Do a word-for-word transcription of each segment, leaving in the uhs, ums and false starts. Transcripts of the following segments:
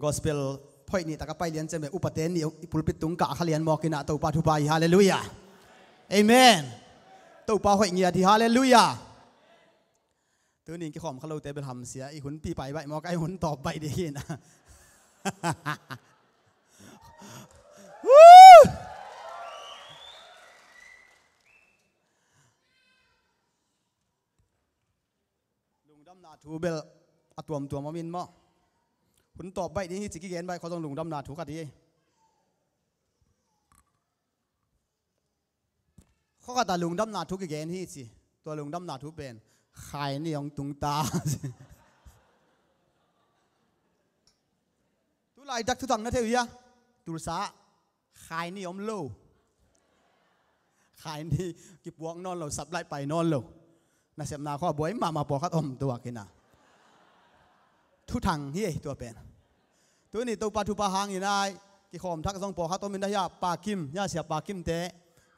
Gospel hoih nih taka pai lian ciang bel upate nih i pulpit tung kah kha lian mawk inah Topa thupha hi. Halleluiah. Amen. Topa hoih ngiat hi. Halleluiah. Tunin kikhawm kha lote bel hamsia, i hun pi pai baih mawk a, i hun tawp baih dih hi inah. Woo! Lungdamna thu bel a tuamtuam om in maw? Hun tawp baih ding hi ci kigen baih khaw zong lungdamna thu khat hi. Khaw khat a lungdamna thu kigen hi ci. Tua lungdamna thu pen khai ni hong tung ta. Tu laitak thuthang na thei uh hia? Tulsa ah khai ni om lo. Khai ni kipuak nawn lo, sap laih pai nawn lo. Nasepna khawng a buai mahmah pawlkhat om tuak hi inah. Thuthang hi ei tua pen. Tuni Topa thupha hangin ai kikhawm thak zong pawlkhat om in a, hia Pa Kim, hia Sia Pa Kim te.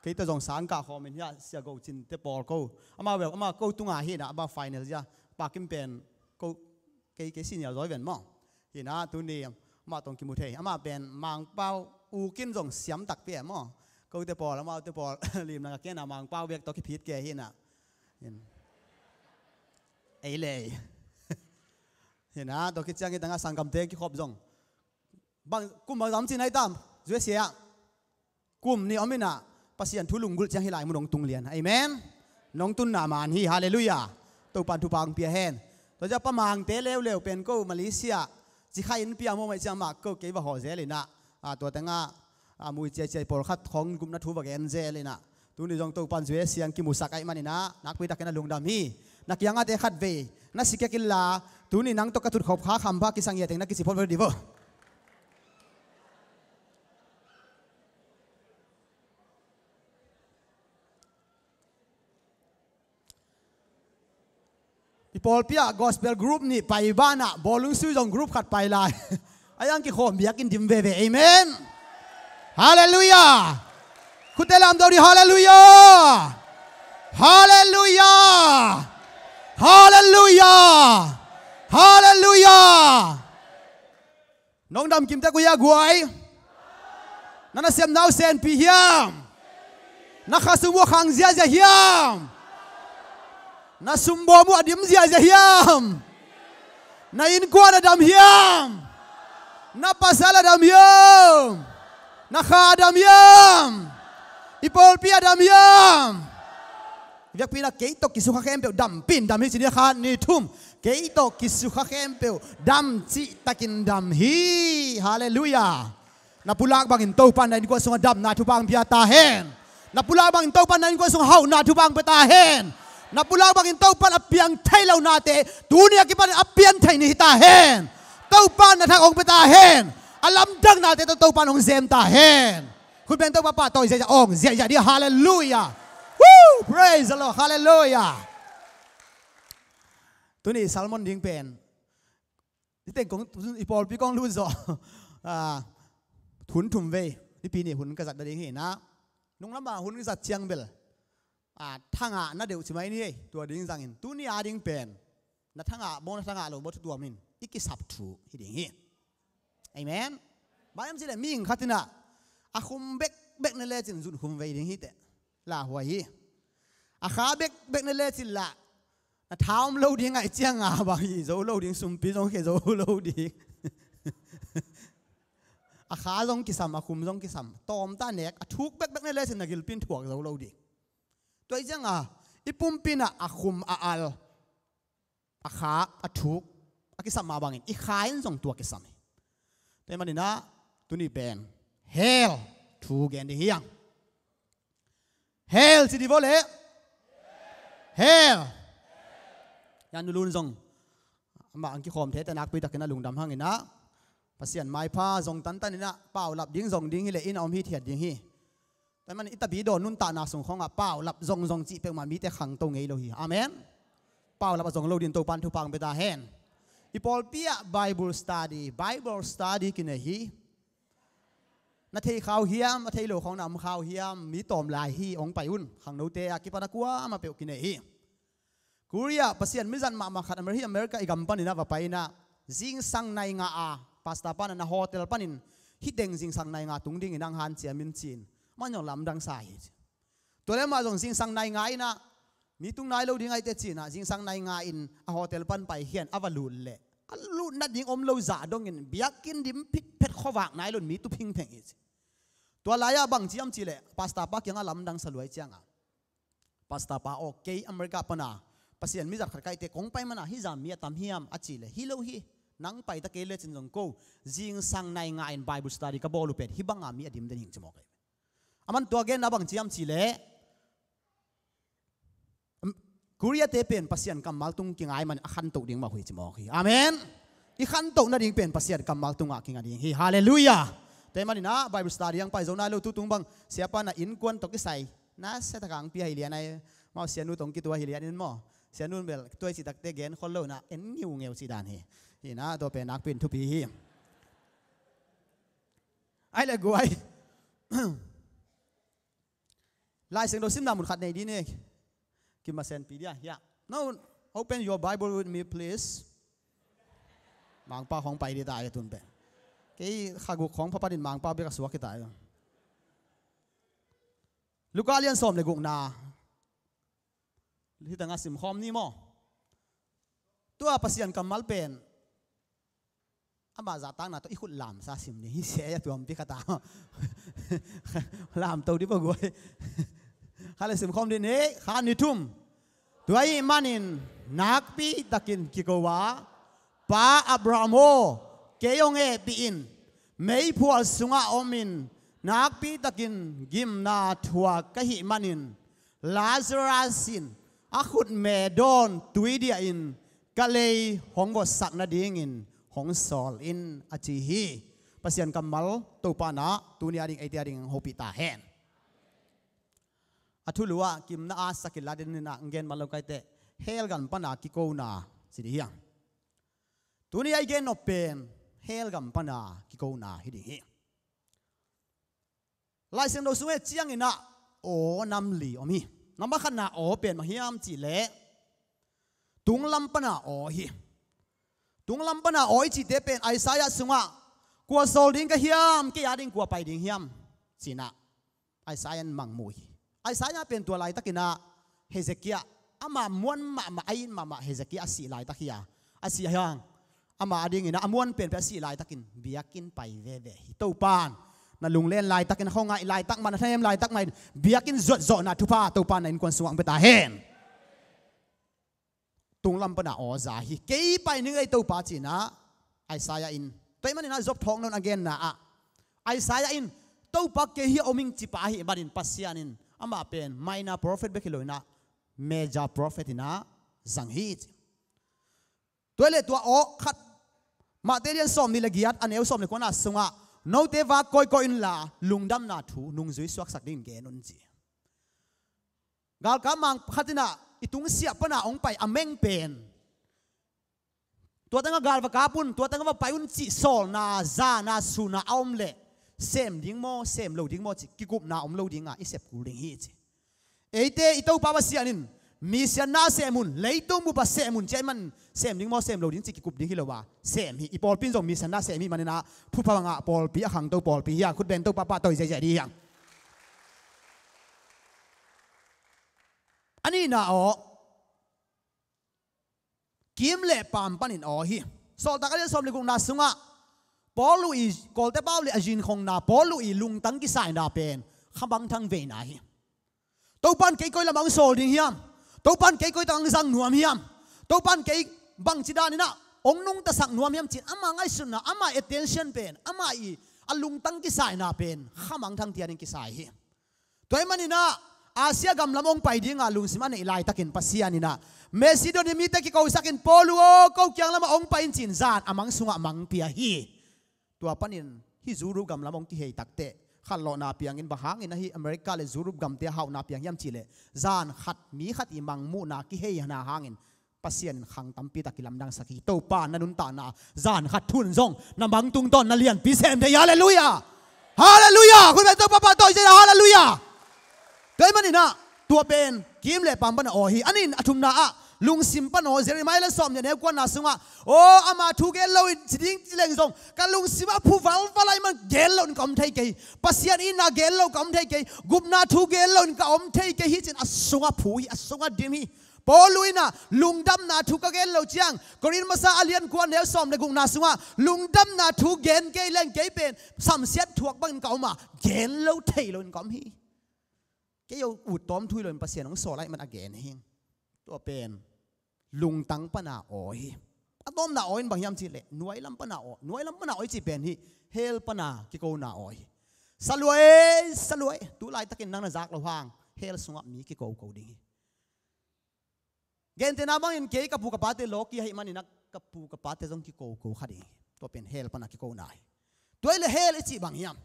Kei tawh zong sang kah khawm in, hia Sia Go Cin te pawl ko. Amau bel, amau ko tunga hi inah, amau final zia. Pa Kim pen ko, kei, kei senior zaw hi ven maw. Hi inah tuni amah tawh kimu thei. Amah pen Mangpau ukin zong siam takpi e maw. Kote pawl, amaute pawl limlang a kena Mangpau bek tawh kiphit kei hi inah. Hin. Ei lei. Hi inah tua khit ciang hi tangah sanggamte kikhop zong. Bang, kum bang zam cin ai tam? U S A ah. Kum nih om inah Pasian thu lunggulh ciang hih lai mun hong tung lian. Amen. Nong tunna man hi. Halleluiah. Topan thupha hong pia hen. Tua ciang Pa Mangte leuleu pen ko Malaysia ci kha in pia mawh mai ciang mah ko kei va hawh zel inah, a, tua tengah, a, mui ciaiciai pawlkhat khawng gupna thu va gen zel inah. Tuni zong Topan U S A ah kimusak ahih man inah nakpi takin a lungdam hi. Na kiangah te khat vei na si kek inla, tuni nang tawh ka tutkhop kha khampha kisang hi a teng na kici phot vo dih vo. I pawlpi ah gospel group nih pai banah bawlung sui zong group khat pai lai. A yang kikhawm biakinn dim veve. Amen. Halleluiah. Khutte lamdo dih. Halleluiah. Halleluiah. Halleluiah. Halleluiah. Nong dam kim tek uh hia guai? Na nasepna uh senpi hiam? Na khasum uh a khang ziazia hiam? Na sumbawm uh a dim ziazia hiam? Na innkuan a dam hiam? Na pasal a dam hiam? Na kha a dam hiam? I pawlpi a dam hiam? Biakpi inah kei tawh kisukha khempeuh dam pin dam hi ci ni. Khat, nih, thum. Kei tawh kisukha khempeuh dam cihtakin dam hi. Halleluiah. Na pulak bangin Topan na innkuan sungah damna thupha hong pia ta hen. Na pulak bangin Topan na innkuan sungah hauhna thupha hong pia ta hen. Na pulak bangin Topan a piang thei lonate tuni a kipan a pian thei ni hi ta hen. Topan na thak hong pia ta hen. A lamdangnate tawh Topan hong zem ta hen. Khut beng Topa pahtawi ziahziah awng ziahziah dih. Halleluiah. Woo! Praise the Lord. Halleluiah. Tuni sermon ding pen i teng kong, i pawlpi kong lut zawh. Ah, hun thum vei. Nipi ni hun ka zat nading hi inah. Nung lama hun zat ciang bel, ah, thangah na deuh ci mai ni ei. Tua ding zangin tuni a ding pen na thangah maw, na thangah lo maw, thu tuam in i kisap thu hi ding hi. Amen. Bang hiam cih leh mihing khat inah a khum bekbek na lecin zun khum vei ding hi teh. Lauhuai hi. A kha bekbek na lecin lah na tha om lo ding, ngaih ciang a bang hi zo lo ding, sumpi zong khia zo lo ding. A kha zong kisam, a khum zong kisam. Tawmta nek, a thuk bekbek na lecin na gilpi in thuak zo lo ding. Tua hi ciang a i pumpi inah a khum a al, a kha a thuk a kisam mah bangin i kha in zong tua kisam hi. Tua hi man inah tuni pen hell thu gen dih hi hang. Hell ci dih vo leh. Hell. Yan Nu Lun zong amah hong kikhawm thei teh nakpi takin a lungdam hang inah Pasian maipha zong tantan inah paulap ding zong ding hi leh inn a om hithiat ding hi. Tua hi man i tabi dawn nuntakna sung khawngah paulap zongzong cih peuhmah mite khangto ngei lo hi. Amen. Paulap a zong lo ding Topan thupha hong pia ta hen. I pawlpi ah Bible study, Bible study kinei hi. Na thei kha uh hiam, a thei lo khawng na om kha uh hiam, mi tawm lai hi, hong pai un. Khangnote a kipan a kuamah peuh kinei hi. Korea, Pasian mizat mahmah khat, Amer-, hi America i gam panin a va pai inah zingsang nai nga a Pastor pa na na hotel panin hih teng zingsang nai nga tung dingin hong hanciam in ci-in, amah zong lamdang sa hi ci. Tua leh amah zong zingsang nai nga in ah mi tung nai lo ding ahih teh ci-in ah zingsang nai nga in a hotel pan paikhia in a va lut leh a lutna ding om lo zah dongin biakinn dim phitphet, khuavak nai lo in mi tu phingpheng hi ci. Tua lai-ah bang ci hiam cih leh pastor pa kiangah lamdang sa lua ahih ciangin, pastor pa aw, kei America pana Pasian mi zat khat ka hih teh kong pai man a hih zah mi a tam hiam a cih leh, hi lo hi, nang pai ta kei lecin zong ko, zingsang nai nga in Bible study ka bawl uh pen hih banga mi a dim den hi ing ci mawk hi. Aman tua genna bang ci hiam cih leh, Korea-te pen Pasian kammal tung kingai man a khantoh ding mah uh hi ci mawk hi. Amen. I khantoh nading pen Pasian kammal tungah kinga ding hi. Halleluiah. Tua ahih manin ah Bible study hong pai zo nai lo, tutung bang siapa na innkuan tawh kisai na sia taka hong pia hi lian ai. Amau sianu tawh hong kitua hi lian in maw, sianu in bel tua i cih takteh gen khol lo in ah en ngiungeu cih dan hi. Hi in ah tua pen nakpi in thupi hi. Ai le guai. Lai Siangtho simna mun khat nei dih ni. Kimasenpih dih a, hiah. Now, open your Bible with me, please. Mangpa khawng pai dih ta a, tun pen. Kei kha guk khawng pha panin Mangpa bek a suak hi ta a. Luka lian sawm le gukna. Hih tengah simkhawm ni maw. Tua Pasian kammal pen amah zahtakna tawh i khut lamsa sim ding hi. Sia a tuampi khat a. Lamto dih bawk guai. Kha le simkhawm dih ni, kha ni thum. Tua ahih manin nakpi takin kiko a, Pa Abraham aw, kei hong hehpih in. Meiphual sungah omin nakpi takin gimna thuak ka hih manin, Lazarus in a khutme dawn tui diahin ka lei hong votsak nadingin hong sawl in, a ci hi. Pasian kammal Topa in ah tuni a ding eite a ding hong hopih ta hen. A thulu ah gimna a sakil a ding in ah gen man lo ka hih teh, hell gam pana kikona ci ding hi hang. Tuni a i gen nop pen hell gam pana kikona hi ding hi. Lai Siangtho sung et ciangin ah aw nam li om hi. Nambat khatna aw pen bang hiam cih leh tunglam pana aw hi. Tunglam pana aw i cihte pen Isaiah sungah, kua sawl ding ka hiam, kei a ding kua pai ding hiam, ci-in ah Isaiah in mangmuh hi. Isaiah pen tua laitakin ah Hezekiah, ama muan mahmah, a it mahmah Hezekiah a sih laitak hi a, a sih hang ama a dingin ah a muan penpen a sih laitakin biakinn pai veve hi. Topa'n na lunglen laitakin, a khuangaih laitak mah, na thanem laitak mah in biakinn zuatzawhna thupha Topa'n na innkuan sungah hong pia ta hen. Tunglam pana aw za hi. Kei pai ning ei Topa, ci-in ah Isaiah in. Tua ahih manin ah Job thawhna a genna ah Isaiah in, Topa kei hi a om ing, ci pa ahih manin Pasian in amah pen minor prophet bek hi lo in ah major prophet in ah zang hi ci. Tua hi leh tua aw khat Matthai lian sawmnih le giat, a neu sawm le kuana sungah, note vak kawikawi inla lungdamna thu nungzui suaksak dingin gen un, ci. Galkap mang khat in ah i tungsiah pana hong pai a meng pen, tua tengah gal va kap un, tua tengah va pai un cih sawlna, zana, suna a om leh sem ding maw, sem lo ding maw cih kikupna om lo ding a, i sep kul ding hi, ci. Eite i Topa Pasian in mi siatna sem un, leitung bup ah sem un, ci ahih manin sem ding maw, sem lo ding cih kikup ding hi lo a, sem hi. I pawlpi in zong mi siatna sem hi manin ah thupha ngah pawlpi, a khangto pawlpi hi a, khut beng, Topa pahtawi ziahziah dih hi hang. A nihna aw, kiim le paam panin aw hi. Sawltak a lian sawm le gukna sungah Paul uh i, Kawlte pau le a zinkhongna, Paul uh i lungtang kisaina pen khamangthang veina hi. Topa'n kei koi lamah hong sawl ding hiam? Topa'n kei koi tak hong zang nuam hiam? Topa'n kei bangci danin ah hong nungtasak nuam hiam, ci-in ama ngaihsutna, ama attention pen, ama i a lungtang kisaina pen khamangthang tianin kisai hi. Tua ahih manin ah Asia gam lam hong pai dinga lungsim a neih laitakin Pasian in ah Macedonia mite kikosakin, Paul uh aw, ko kiang lamah hong pai in, ci-in zan a mang sungah mang pia hi. Tua panin hih Europe gam lam hong kihei takteh khanlawhna piangin, bang hangin ahi America le Europe gamte a hauhna piang hiam cih leh, zan khat mi khat i mangmuhna kiheina hangin Pasian in khang tampi tak kilamdangsak hi. Topa na nuntakna zan khat thu-in zong na mang tungtawn na lianpi sem thei hi. Halleluiah. Halleluiah. Khut beng, Topa pahtawi ziahziah. Halleluiah. Tua ahih manin ah tua pen kiim le paam pana aw hi. A nih, a thumna ah Lungsim pan aw, Jeremiah lian sawmnih a neu kuana sungah, aw, ama thu gen lo in ci ding ci leng zong, ka lungsim a phu valval ahih man gen lo in ka om thei kei hi. Pasian itna gen lo ka om thei kei hi. Gupna thu gen lo in ka om thei kei hi ci-in a sungah phu hi, a sungah dim hi. Paul in ah lungdamna thu ka gen lo ciang, Korin masa a lian kua a neu sawm le gukna sungah lungdamna thu gen kei leng kei pen samsiat thuak bangin ka om a, gen lo thei lo in ka om hi. Kei a ut tawm thu hi lo in Pasian hong sawl ahih man a gen hi. Tua pen lungtang pana aw hi. A tawpna aw in bang hiam cih leh nuailam pana aw, nuailam pana aw i cih pen hi, hell pana kikona aw hi. Salua e, salua e, tu laitakin nang na zak loh hang hell sungah mi kikoko ding hi. Gentehna bangin kei ka pu ka pate lawki ahih manin ah ka pu ka pate zong kikoko kha ding hi. Tua pen hell pana kikona hi. Tua hi leh hell i cih bang hiam?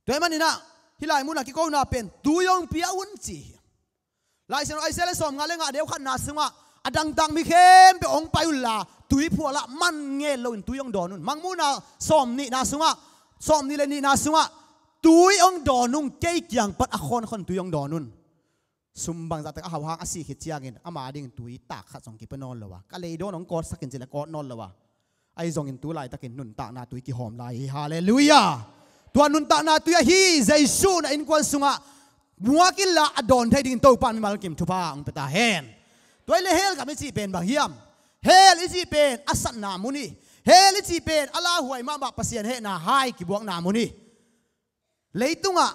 Tua ahih manin ah hih lai munah kikona pen tui hong pia un ci hi. Lai Siangtho Isaiah lian sawmnga le nga a neu khatna sungah a dangtak mi khempeuh hong pai unla tui phualah man ngen loin tui hong dawn un. Mangmuhna sawmnihna sungah, sawmnih le nihna sungah tui hong dawn ung, kei kiang pan a khawnkhon tui hong dawn un. Sum bangzah tak a hau hang a sih khit ciangin ama dingin tui tak khat zong kipia nawn lo a, ka leidawn hong kawtsak in ci leh kawt nawn lo a, ahi zongin tu laitakin nuntakna tui kihawm lai hi. Halleluiah. Tua nuntakna tui ahi Jesu na innkuan sungah muak inla a dawn thei dingin Topa in mimal kim thupha hong pia ta hen. Tua hi leh hell gam i cih pen bang hiam? Hell i cih pen a satna mun hi. Hell i cih pen a lauhuai mahmah Pasian hehna hai kibuakna mun hi. Leitungah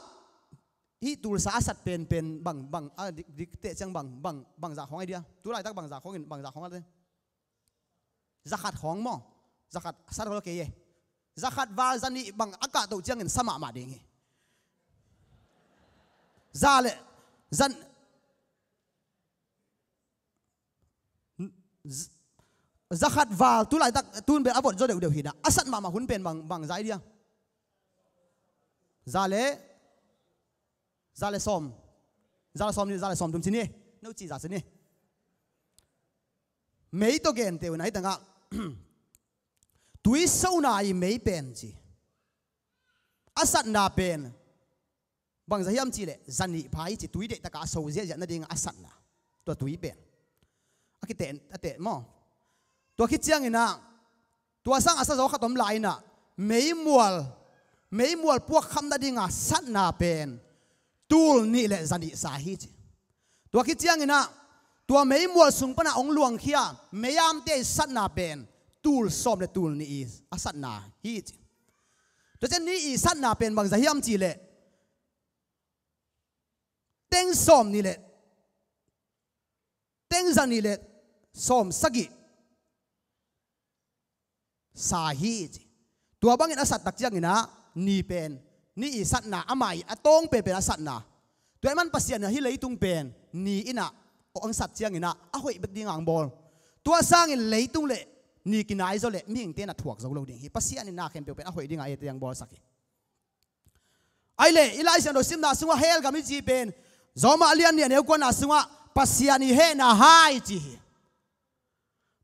hih tulsa a sat penpen bang, bang, a dik, dik teh ciang bang, bang, bangzah khawng ahi dia? Tu laitak bangzah khawngin, bangzah khawng a te? Zakhat khawng maw? Zakhat sat khawng lo kei e. Zakhat val zanih bang a kahtoh ciangin sa mahmah ding hi. Za le, zan, z-, zakhat val, tu laitak, tun bel a vot zaw deuhdeuh hi na. A sat mahmah hun pen bang, bang za ahi dia? Za le, za le sawm. Za le sawm ni, za le sawm thum ci ni. No ci za ci ni. Mei tawh genteh un ahi tangah. Tui sona i mei pen ci. A satna pen bangzah hiam cih leh zanih pha i ci, tui deihtakah a so ziahziah nadingah a satna. Tua tui pen a kiteh, a teh maw? Tua khit cianginah tua sang a sa zaw khat om lai inah meimual, meimual puakkham nadinga satna pen tul nih le zanih sa hi ci. Tua khit cianginah tua meimual sung panah hong luangkhia meiamte i satna pen tul sawm le tul nih i a satna hi ci. Tua cian nih i satna pen bangzah hiam cih leh teng sawm nih le teng zanih le sawm sagih sa hi ci. Tua bangin a sat tak cianginah ni pen, ni i satna, amah i a tawng penpen a satna. Tua i man Pasian inah hih leitung pen ni inah hong sat cianginah a hoih bek dingah hong bawl. Tua sangin leitung le ni kinai zaw le mihingte na thuak zo lo ding hi. Pasian in na khempeuh pen a hoih dingah eite hong bawlsak hi. Ahi leh i Lai Siangtho simna sungah hell gam i cih pen Rom a lian nih a neu kuana sungah Pasian i hehna hai ci hi.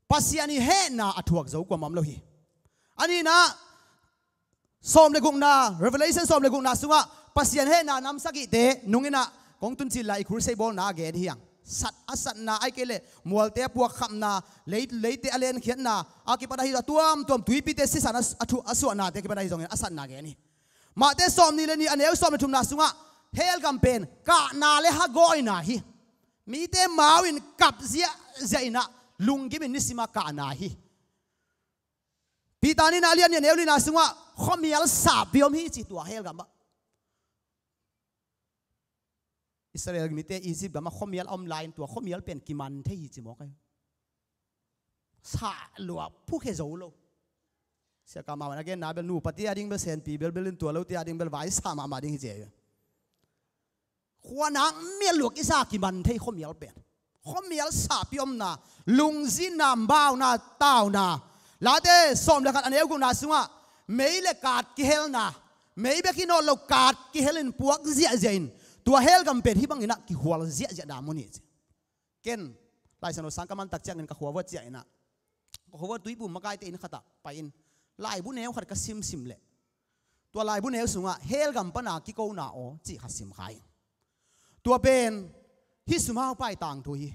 Pasian i hehna a thuak zo kuamah om lo hi. A nihna sawm le gukna, Revelation sawm le gukna sungah Pasian hehna nam sagihte nung inah kong tun cil lai i crusade bawlna a gen hi hang. Sat a satna ahi kei leh mualte a puakkhapna, lei, leite a lenkhiatna a kipan ahi zah tuamtuam tuipite sisan a, a, thu, a suahnate a kipan ahi zongin a satna gen hi. Matthai sawm nih le nih a neu sawm le thumna sungah hell gam pen kahna le hagawina hi. Mite mau in kap ziahziah inah lunggimin nisima kahna hi. Peter nihna a lian nih a neu nihna sungah khuamial sapi om hi ci tua hell gamah. Israel mite Egypt gamah khuamial a om lai-in tua khuamial pen kiman thei hi ci mawk ahi. Sa lua phukhia zo lo. Siaka mah a genna bel nupa tia ding bel senpi belbel in tua lo tia ding bel vai sa mahmah ding hi ci ahi. Khuanak mial luak i sa kiman thei khuamial pen. Khuamial sapi omna, lungzinna, mauna, tauna. Late sawm le khat a neu gukna sungah mei le kaat kihelna, mei bek hi nawn lo kaat kihelin puak ziahziah in tua hell gam pen hih banginah kihual ziahziahna mun hi ci. Ken Lai Siangtho sang ka man tak ciangin ka khuavuat ciah inah ka khuavuat tuiphum makaite inn khatah pai-in laibu neu khat ka simsim leh tua laibu neu sungah hell gam pana kikona aw cih khat sim kha ing. Tua pen hih sumau pai tangthu hi.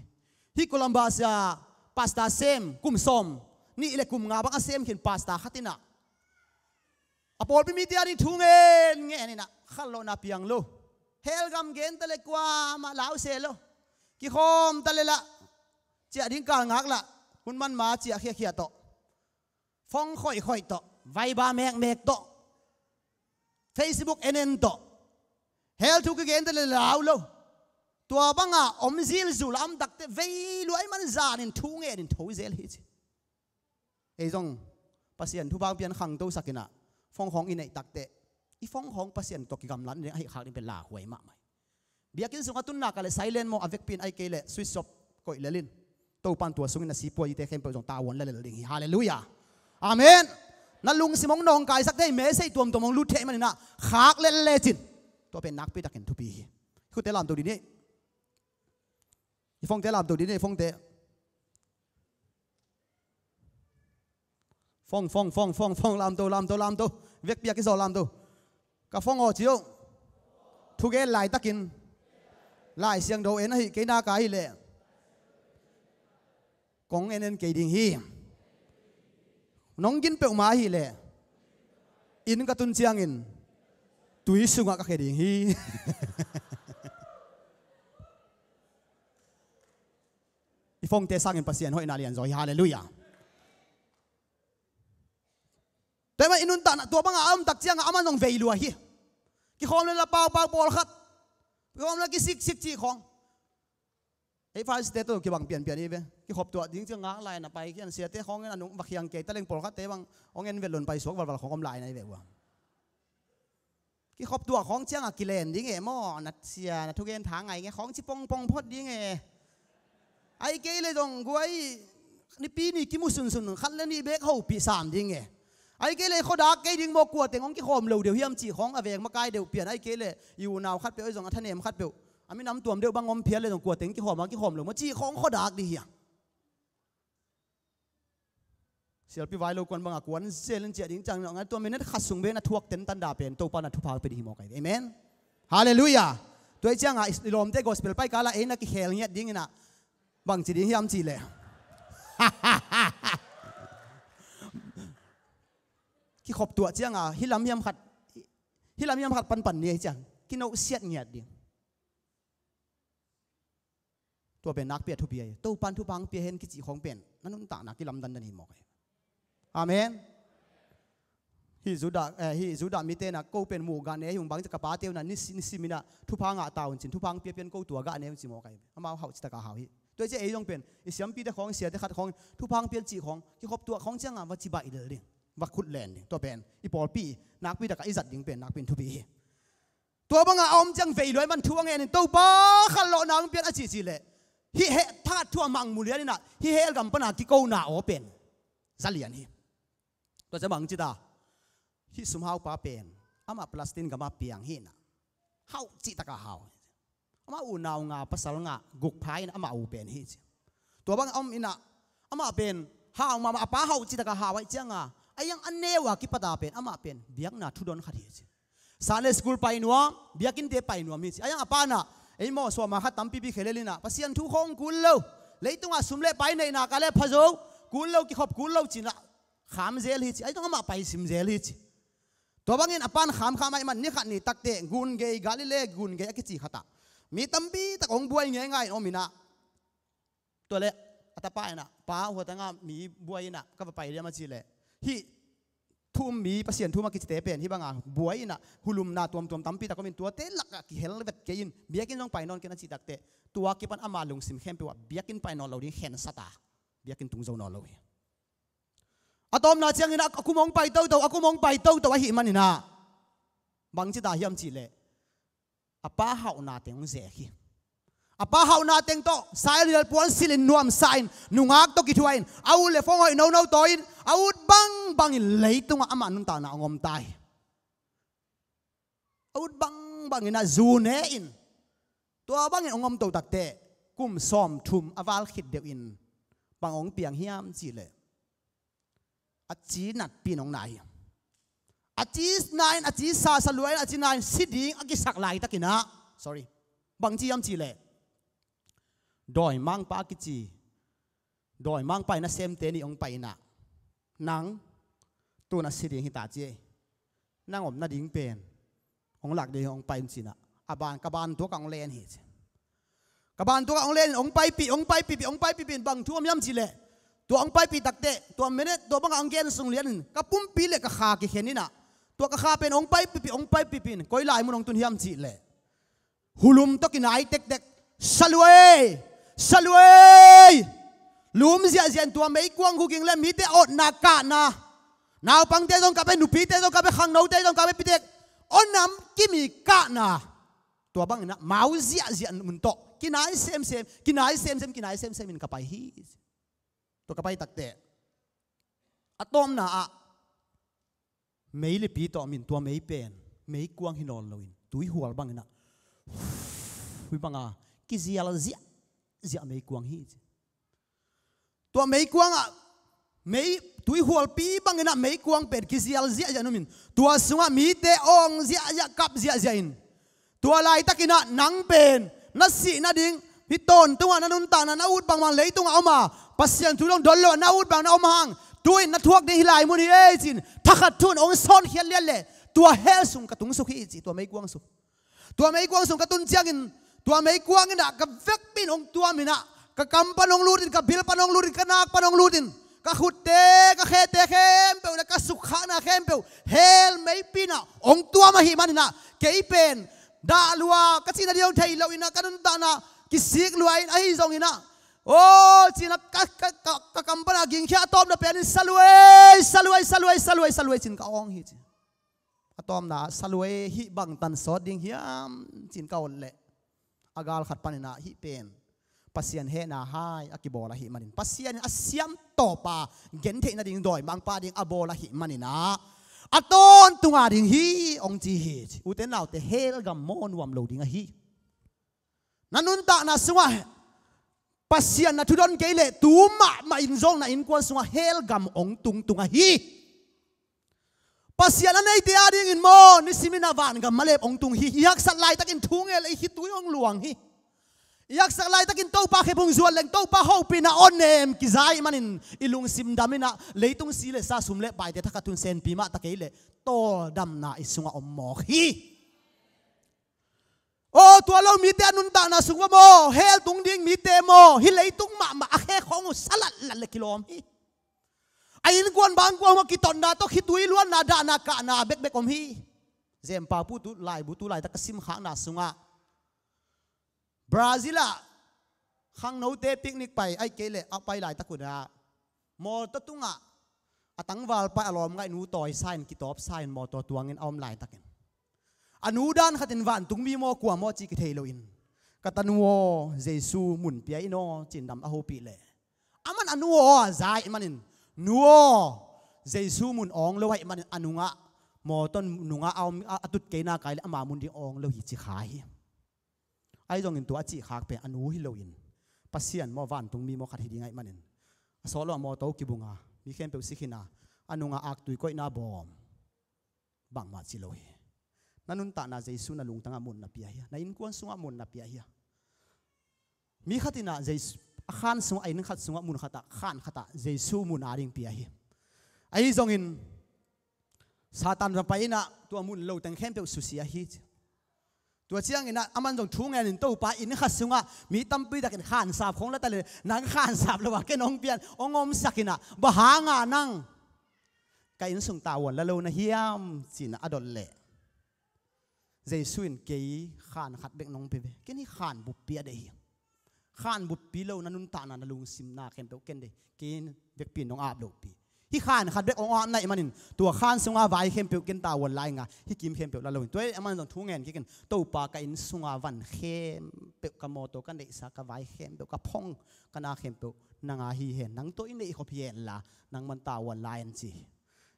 Hih Columbus ah pastor sem kum sawm nih le kum nga bang a sem khin pastor khat in ah, a pawlpi mite a ding thu ngen ngen in ah, khanlawhna piang lo. Hell gam gen ta le kuamah lau se lo. Kikhawm ta le lah, ciah ding kal ngak lah, hun man ma ciah khiakhia tawh, phone khoihkhoih tawh, Viber mekmek tawh, Facebook en en tawh, hell thu kigen ta le lau lo. Tua banga om zilzul a om takteh vei luai man zanin thu ngenin tho zel hi ci. Ei zong Pasian thupha pian khangtosak in ah, phone khawng i neih takteh, i phone khawng Pasian tawh kigamlat ding ahih khak ding pen lauhuai mahmah hi. Biakinn sungah tunna ka le silent maw, a vekpi in, ahih kei leh switch off koih lel in. Topa'n tua sungin a sipuaite khempeuh zong tavuan lel ding hi. Halleluiah. Amen. Na lungsim hong nawngkaisak thei message tuamtuam hong lut thei manin ah, khak lel lecin, tua pen nakpi takin thupi hi. Khutte lamto dih ni. I phone-te lamto dih ni, phone-te. Phone, phone, phone, phone, phone, lamto, lamto, lamto. Vekpi a kizaw lamto. Ka phone aw ci uh. Thugen laitakin Lai Siangtho en ahih kei nak ahih leh, kong en en kei ding hi. Nong gin peuhmah ahih leh, inn ka tun ciangin tui sungah ka khia ding hi. I phone-te sangin Pasian hoihna lianzaw hi. Halleluiah. Tua mah i nuntakna, tua bangah a om tak ciangah amah zong vei lua hi. Kikhawm le la paupau pawlkhat, kikhawm le kisiksik cih khawng. Ei Pharisee-te tawh kibang pianpian hi ve. Kikhop tuah ding ciang ngak lai na pai khian, siate khawng in a nung va khiang kei ta leng, pawlkhatte bang hong en vet lon paisuak valval khawng om lai na hi ve ua. Kikhop tuah khawng ciangah kilen ding e maw, na sia na thugen tha ngai nge khawng ci pongpong phot ding e. Ahih kei leh zong guai, Nipi ni kimu sunsun khat le nih bek hopih sam ding e. Ahih kei leh khuadak kei ding maw, kua teng hong kikhawm lo deuh hiam cih khawng a veng makai deuh pian, ahih kei leh i unau khatpeuh ahi zong a thanem khatpeuh a minam tuam deuh bang om phial leh zong kua teng kikhawm a kikhawm lo maw cih khawng khuadak ding hiam. Sialpi vai lo kuan bangah kuan zel in ciah ding ciang ngai, tua minute khat sung bek na thuak tentan dah pen Topa na thupha pia ding hi mawk ahi ve. Amen. Halleluiah. Tua hi ciangah i lawmte gospel pai kala ei na kikhel ngiat ding inah bangci ding hiam cihleh, kikhop tuah ciangah hih lam hiam khat, hih lam hiam khat panpan ni ahi ciang kinohsiat ngiat ding. Tua pen nakpi a thupi ahi. Topan thupha hong pia hen kicih khawng pen na nuntakna kilamdandan hi mawk ahi. Amen. Hih Judah, eh, hih Judah mite na ko pen muh gah ne hi ung, bang ci ka pate uh na nisi-, nisiminah thupha ngah ta un cin, thupha hong pia pian ko tua gah ne un ci mawk ahi. Amau hauh citakah hau hi. Tua hi ciah ei zong pen i siampite khawng, siate khat khawng, thupha hong pian cih khawng kikhop tuah khawng ciangah va cibai lel ding, va khut len ding. Tua pen i pawlpi nakpi takah i zat ding pen nakpi in thupi hi. Tua bangah a om ciang vei luai man thu a ngenin Topa khanlawhna hong pian a cihcih leh hih heh thahat thu a mangmu lian inah hih hell gam pana kikona aw pen za lian hi. Tua ciah bang cita, hih sumhaupa pen amah Palestine gamah piang hi inah hauh cihtakah hau. Amah unau nga pasal ngah guk pha inah amah u pen hi ci. Tua bang a om inah amah pen hau mahmah, a pa hauh cihtakah hau ahih cianga a iang a neu a kipata pen amah pen biakna thudon khat hi ci. Sunday school pai nuam, biakinnte pai nuam hi ci. A iang a panah ei maw suama khat tampipi khelel inah Pasian thu khawng kul lo, leitungah sum le pai neihna ka le phazo, kul lo, kikhop kul lo cinah kham zel hi ci. A iang amah pai sim zel hi ci. Tua bangin a pan khamkham ahih man ni khat ni takteh gun gei, Galilee gun gei a kici khatah mi tampi tak hong buai ngeingai in om inah tua le a tapa inah, pa, huatanga mi buai inah ka va pai liam a cih leh hih thu um mi, Pasian thu um a kicite pen hih banga buai inah hulumna tuamtuam tampi tak om in tuate lakah kihel vet kei in biakinn zong pai nawn ken a cih takteh tua kipan ama lungsim khempeuh ah biakinn pai nawn lo ding khensat a biakinn tung zo nawn lo hi. A tawpna ciangin a kum hong pai toto, a kum hong pai toto ahih maninah bang cita hiam cihleh a pa hauhna teng hong zek hi. A pa hauhna teng tawh sailial puan silin nuamsa in nungak tawh kithuah in a ut le phone hoih nono tawi in a ut bangbangin leitungah amah nuntakna hong om ta hi. A ut bangbangin a zu ne in tua bangin hong om to takteh kum sawmthum a val khit deuhin bang hong piang hiam cihleh a ci natpi in hong nai hi. A ci na in a ci sasa lua in a ci na in si ding a kisak laitakinah, sorry, bang ci hiam cihleh Dawimangpa kici, dawimangpa in a semte nih hong pai inah, nang tun a si ding hi ta ci ei. Nang om nading pen hong lak ding hong pai in cinah, a ban, ka ban tuakah hong len hi ci. Ka ban tuakah hong len in hong paipih, hong paipihpih, hong paipihpih in bang thu om hiam cihleh, tua hong paipih takteh tua minute tua bangah hong gen sung lian in ka pumpi le ka kha kikhen inah, tua ka kha pen hong paipihpih, hong paipihpih in koi lai mun hong tun hiam cihleh, hulum tawh kinai tektek, saluai, saluai. Lum ziahziah in tua meikuang huging le mite awtna kahna, naupangte zong kap e, nupite zong kap e, khangnote zong kap e, pitek awnam kimi kahna. Tua bang inah mau ziahziah mun tawh kinai semsem, kinai semsem, kinai semsem in ka pai hi. Tua ka pai takteh a tawpna ah mei lipi tawh min tua mei pen meikuang hi nawn loin tuihual bang inah, hui banga kizial ziahziah meikuang hi ci. Tua meikuang ah mei, tuihualpi bang inah meikuang pen kizial ziahziah numin tua sungah mite awng ziahziah, kap ziahziah in, tua laitak inah nang pen na sih nading, hih tawntungah na nuntakna na ut bangmang leitungah om a, Pasian thu dong don lo a na ut bang na om hang, tu-in na thuak ding hi lai mun hi ei ci-in thakhat thu-in hong sawnkhiat lian leh tua hell sung ka tung suk hi ci, tua meikuang sung. Tua meikuang sung ka tun ciangin tua meikuang inah ka vekpi in hong tuam inah, ka kam pan hong lut in, ka bil pan hong lut in, ka nak pan hong lut in, ka khutte, ka khete khempeuh le ka sukkhakna khempeuh hell meipi inah hong tuam ahih manin ah kei pen dah lua ka cih nading hong thei lo inah ka nuntakna kisik lua in, ahi zong inah, aw ci-in ah ka, ka, ka, ka kam pan a gingkhia a tawpna pen in saluai, saluai, saluai, saluai, saluai ci-in ka awng hi ci. A tawpna ah saluai, hih bangtan sawt ding hiam ci-in ka awt leh, a gal khat pan inah hih pen Pasian hehna hai a kibawl ahih manin, Pasian in a siam tawpa gentheih nading dawimangpa ding a bawl ahih manin ah a tawntunga ding hi hong ci hi ci. Ute naute, hell gam maw nuam lo ding ahi. Na nuntakna sungah Pasian na thudon kei leh tu mahmah in zong na innkuan sungah hell gam hong tungtung ahi. Pasian a neite adingin maw nisimin a vangam malep hong tung hi. I haksat laitakin thu ngen leh i khitui hong luang hi. I haksak laitakin Topa khepung zuan leng Topa hopihna aw nem kiza ahih manin i lungsim dam inah leitung si le sa, sum le paite thakhat thu-in senpi mah ta kei leh tawldamna i sungah om mawk hi. Aw, tua lo mite a nuntakna sung va maw, hell tung ding mite maw, hih leitung mahmah a khe khawng uh sa latlat le kilawm hi. A innkuan bangkuang maw, kitotna tawh khitui luanna, dahna kahna bekbek om hi. Zempa pu tu laibu tu laitak ka simkhakna sungah Brazil ah khangnote picnic pai, ahih kei leh a pai laitak un ah mawtaw tungah a tangvalpa a lawmngaihnu tawisa in, kitawpsa in, mawtaw tuangin a om laitakin a nu dan khatin vantungmi maw kua maw cih kithei loin, "Ka tanu aw, Jesu mun pia in aw," ci-in dam a hopih leh, aman a nu aw a za ahih manin, "Nu aw, Jesu mun awng lo ahih manin a nungah, mawtaw nungah a om, a, a tut kei nak leh ama mun ding awng lo hi," ci kha hi. Ahi zongin tua a cih khak pen a nu hi loin Pasian maw, vantungmi maw khat hi ding ahih manin, a sawt lo a mawtaw kibung a, mi khempeuh si khin a, a nungah aktui koihna bawm bangmah ci lo hi. Na nuntakna Jesu na lungtangah mun na pia hia? Na innkuan sungah mun na pia hia? Mi khat in ah Jesu, a khan sungah, a inn khat sungah, mun khatah, khan khatah Jesu mun ading pia hi. Ahi zongin Satan va pai in ah tua mun lo teng khempeuh susia hi. Tua ciangin ah aman zong thu ngenin, "Topa, inn khat sungah mi tampi takin khansap khong la ta leh, nang khansap lo a ken hong pian, hong omsak in ah, bang hanga nang ka inn sung tavuan la lo na hiam?" ci-in ah a dot leh, Jesu in, "Kei khan khat bek nong pia ve. Ken hih khan buppi a deih hi. Khan buppi lo na nuntakna, na lungsimna khempeuh ken deih. Kei vekpi in nong ap lohpi. Hih khan khat bek hong ap na hih manin tua khan sunga vai khempeuh ken tavuan la ing a, hih kim khempeuh la lo ing." Tua hi aman zong thu ngen kikin, "Topa, ka inn sunga van khempeuh, ka mawtaw, ka neihsa, ka vai khempeuh, ka phong, ka na khempeuh nang a hi hen. Nang tawh i neih khop hi hen la, nangman tavuan la in," ci hi.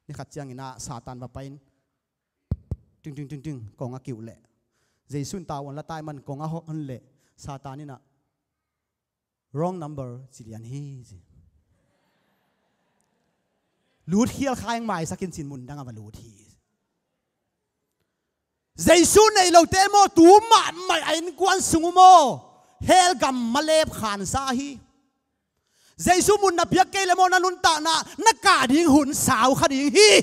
Ni khat ciangin ah Satan va pai in, ting, ting, ting, ting, kong a kiuh leh, Jesu in tavuan la ta ahih man kong a hon leh, Satan in ah, "Wrong number," ci lian hi, ci. "Lut khial kha ing, maisak in," ci-in mun dang a va lut hi. Jesu neih lote maw, tu mahmah a innkuan sung uh maw, Hell gam malep khansa hi. Jesu mun na piak kei le maw, na nuntakna na kah ding hun sau kha ding hi.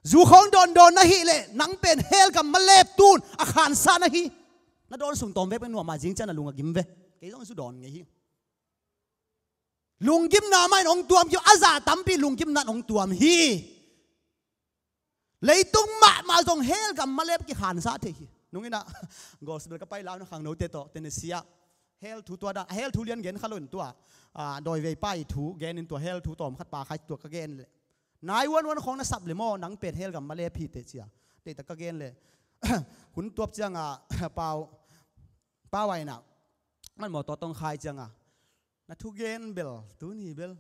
Zu khawng dawndawn na hih leh nang pen hell gam malep tun a khansa na hi. Na dawn sung tawm vek pen nuam a, zing ciang na lung a gim ve. Kei zong zu dawn ngei hi. Lunggimna mah in hong tuam kei, a zah tampi lunggimna in hong tuam hi. Leitung mahmah zong hell gam malep kikhansa thei hi. Nung inah gospel ka pai lau na khangnote tawh Tennessee ah hell thu tua dan, hell thu lian gen kha lo in tua, ah, dawivei pa i thu gen in tua hell thu tawm khat pa khai tua ka gen leh, nine one one khawng na sap le maw, nang pen hell gam malep hi teh cia. Teh tak ka gen leh hun tuap cianga pau pau a inah man mawtaw tong khai cianga, na thugen bel tuni bel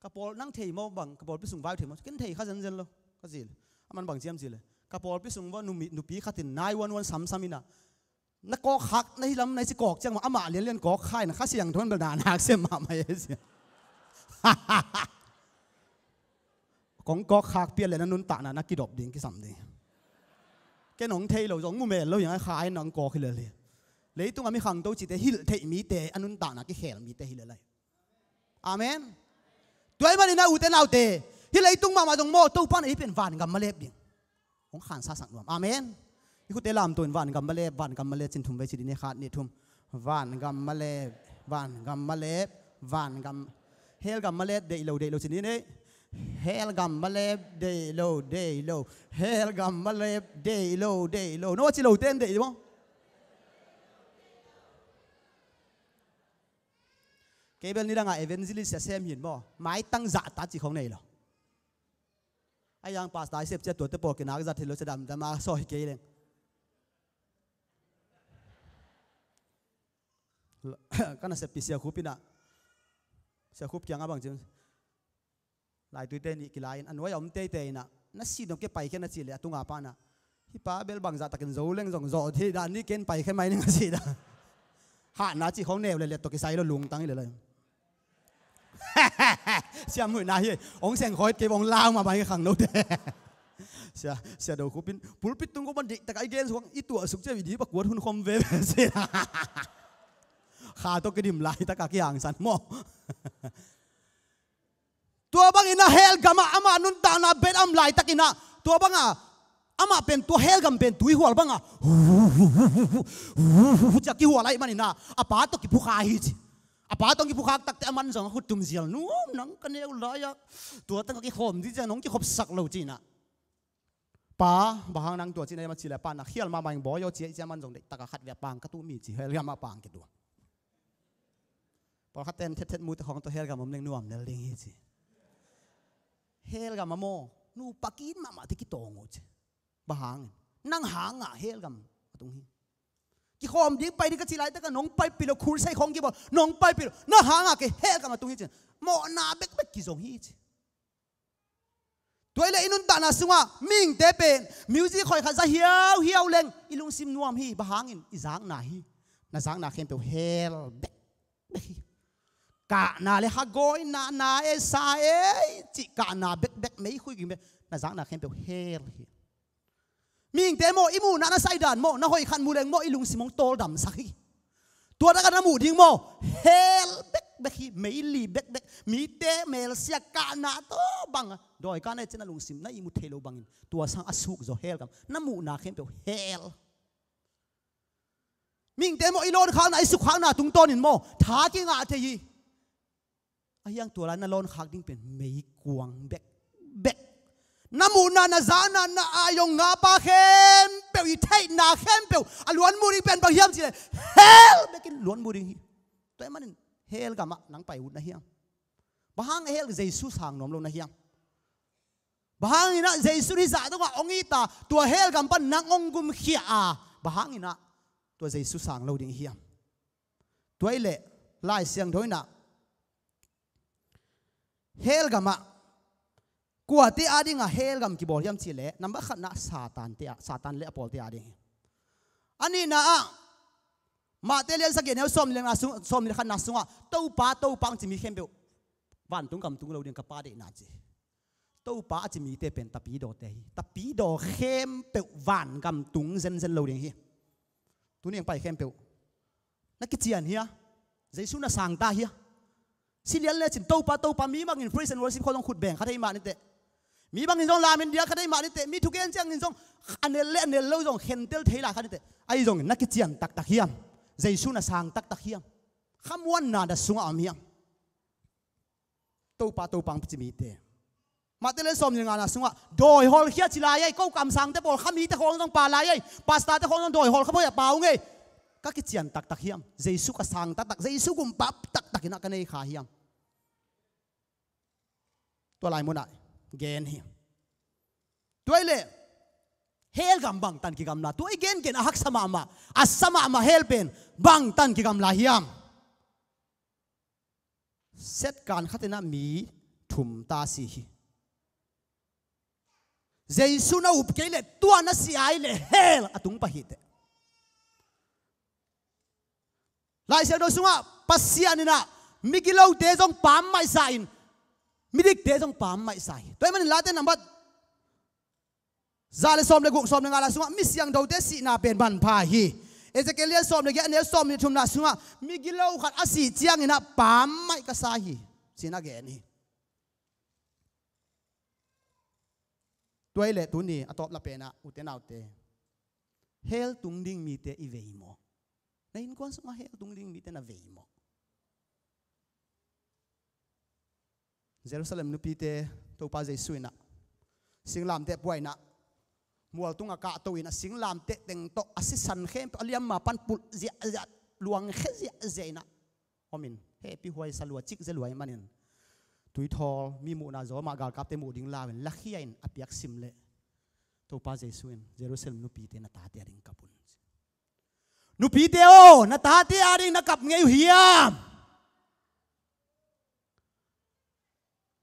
ka pawl nang thei maw bang, ka pawlpi sung vai thei maw, ken thei kha zenzen lo ka ci le. A man bang ciam ci le, ka pawlpi sung va nupi khatin nine one one samsam inah, na kawk khak na hi lam na ci kawk ciang mah amah lianlian kawk kha inah Kha Siangtho in bel na nak sem mahmah e ci. Kong kawk khak pian le na nuntakna na kidop ding, kisam ding. Ken hong thei lo zong mu mel lo hiang a, kha in hong kawk hi lel hi. Leitung a mi khangto cite hilh theih mite a nuntakna kikhel mite hi lel lai. Amen. Tua ahih manin a ute naute, hih leitung mahmah zong maw, Topa na i pen vangam malep ding hong khansa sak nuam. Amen. I khute lamto in vangam malep, vangam malep cin thum vei ci ding e, khat nih thum. Vangam malep, vangam malep, vangam. Hell gam malep deih lo, deih lo cin ding e. Hell gam malep deih lo, deih lo. Hell gam malep deih lo, deih lo. No ci lo ten deih maw. Kei bel nidanga evangelist a sem hin maw, maitang zahta ci khong nei lo. A yang pastor i sep cia tuate pawl kinak zat hi lo, cia damdam a sawi kei leng. Ka naseppi Sia Khup inah, Sia Khup kiangah bang ci, laituite nih kilai in a nuai a om teitei inah, na si dong ke pai khen a ci le a tunga pa inah, hih pa bel bangzah takin zo leng zong zawh thei dah ni, ken pai khen mai ning a ci dah. Hahna ci khong neu le let tawh kisai lo, lungtang hi le lai. Siam huihna hi. Hong seng khawit kei bawng lau mah bai khang note. Sia, Sia Do Khup in pulpit tung ko ban diktak a i gen suang i tuah suk cia i dip a kuat hun khom veve sia. Kha tawh kidim laitak a kihangsan maw. Tua bangin a hell gamah ama nuntakna bet a om laitak inah, tua banga amah pen tua hell gam pen tuihual banga cia kihual ahih manin a, a pa tawh kiphukha hi ci. A pa tawh kiphukha takte a man zong a khut tum zial, "Nu, nang ka neu lai-ah tua tang ka kikhawm dih ciang nong kikhopsak lo," ci inah. "Pa, bang hang nang tua cih na hiam?" a cih leh, "Pa, na khial mahmah ing, bawi aw," ci a, i ci a man zong deih taka khat vei a pang ka tuh mi ci, hell gam a pang kituah. Pawlkhat ten thethet mute khawng tawh hell gam om leng nuam lel ding hi ci. Hell gam a maw, nupa kit mahmah te kitawng uh ci. Bang hangin? Nang hangah hell gam a tung hi. Kikhawm ding pai ding ka cih laitak a nong paipih lo, khulsai khawng kibawl nong paipih lo, nang hangah kei hell gam a tung hi ci. Mawhna bekbek kizong hi ci. Tua hi leh i nuntakna sungah mihingte pen music khoi khat za hiauhiau leng i lungsim nuam hi. Bang hangin? I zakna hi. Na zakna khempeuh hell bekbek hi. Kahna le hagawina, na e sa e cih kahna bekbek, meikhui ging bek, na zakna khempeuh hell hi. Mihingte maw, i muhna na saidan maw, na hoih khat mu leng maw, i lungsim hong tawldamsak hi. Tua takah na muh ding maw, hell bekbek hi, meili bekbek, mite melsia kahna tawh bang, dawi kahna i cih na lungsim na ihmu thei lo bangin, tua sang a suk zaw hell gam, na muhna khempeuh hell. Mihingte maw, i lawnkhakna, i sukkhakna tungtawnin maw, tha kingah thei hi. Ahi hang tua lai na lawnkhak ding pen meikuang bekbek. Na muhna, na zakna, na aizong ngapa khempeuh, i theihna khempeuh a luan mu ding pen bang hiam cih leh hell bekin luan mu ding hi. Tua ahih manin hell gamah nang pai ut na hiam? Bang hang hell Jesu sang nuam lo na hiam? Bang hangin ah Jesu hih zah dongah hong it a, tua hell gam pan nang hong gumkhia a, bang hangin ah tua Jesu sang lo ding hiam? Tua hi leh Lai Siangtho in ah hell gamah kuate adingah hell gam kibawl hiam cih leh, number khatna Satan te ah, Satan le a pawlte ading hi. A nihna ah Matthai lian sagih neu sawm le khatna sung, sawm le khatna sungah Topa, Topa hong ci mi khempeuh vantung gam tung lo ding, ka Pa deihna ci. Topa a ci mite pen tapidawte hi. Tapidaw khempeuh vangam tung zenzen lo ding hi. Tuni hong pai khempeuh Na kician hia? Jesu na sangta hia? Si lian lecin Topa, Topa, mi bangin praise and worship khawng zong khut beng kha thei mah niteh. Mi bangin zong lamin dia kha thei mah niteh. Mi thugen ciangin zong a nel le a nel lo zong khentel thei lai kha niteh. Ahi zongin na kician taktak hiam? Jesu na sang taktak hiam? Khamuanna na sungah om hiam? Topa, Topa hong ci mite. Matthai lian sawm le ngana sungah dawi hawlkhia ci lai ei, ko kamsangte pawl kha mite khawng zong pha lai ei, pastorte khawng zong dawi hawlkhia pawh a pha ung ei. Ka kician taktak hiam? Jesu ka sang taktak, Jesu gumpa taktak in ah ka nei kha hiam? Tua lai munah gen hi. Tua hi leh hell gam bangtan kigamla, tua i gengen a haksa mahmah, a sa mahmah hell pen bangtan kigamla hiam? Setkan khat in ah mi thum ta si hi. Jesu na up kei leh tua na si ai leh hell a tung pah hi teh. Lai Siangtho sungah Pasian in ah migilote zong pammaih sa in, midikte zong pammaih sa hi. Tua ahih manin Late nambat za le sawm le guk, sawm le nga lai sungah mi siangthote sihna pen manpha hi. Ezekiel lian sawm le giat, a neu sawm le thumna sungah migilo khat a sih ciangin ah pammaih ka sa hi, ci-in a gen hi. Tua hi leh tuni a tawp la penah ute naute, hell tung ding mite i vei maw? Na innkuan sungah hell tung ding mite na vei maw? Jerusalem nupite Topa Jesu in ah singlamteh puah in ah mual tungah kahto in ah singlamteh teng tawh a sisan khempeuh a liamma pan pulh ziahziah, luang khe ziahziah in ah om in, hehpih huai sa lua, cik zia lua ahih manin tuithawl, mi muhna zaw mah galkapte muh ding lau in lakhia in a piak sim leh Topa Jesu in Jerusalem nupite, na tate ading kap un. Nupite aw, na tate ading na kap ngei uh hiam?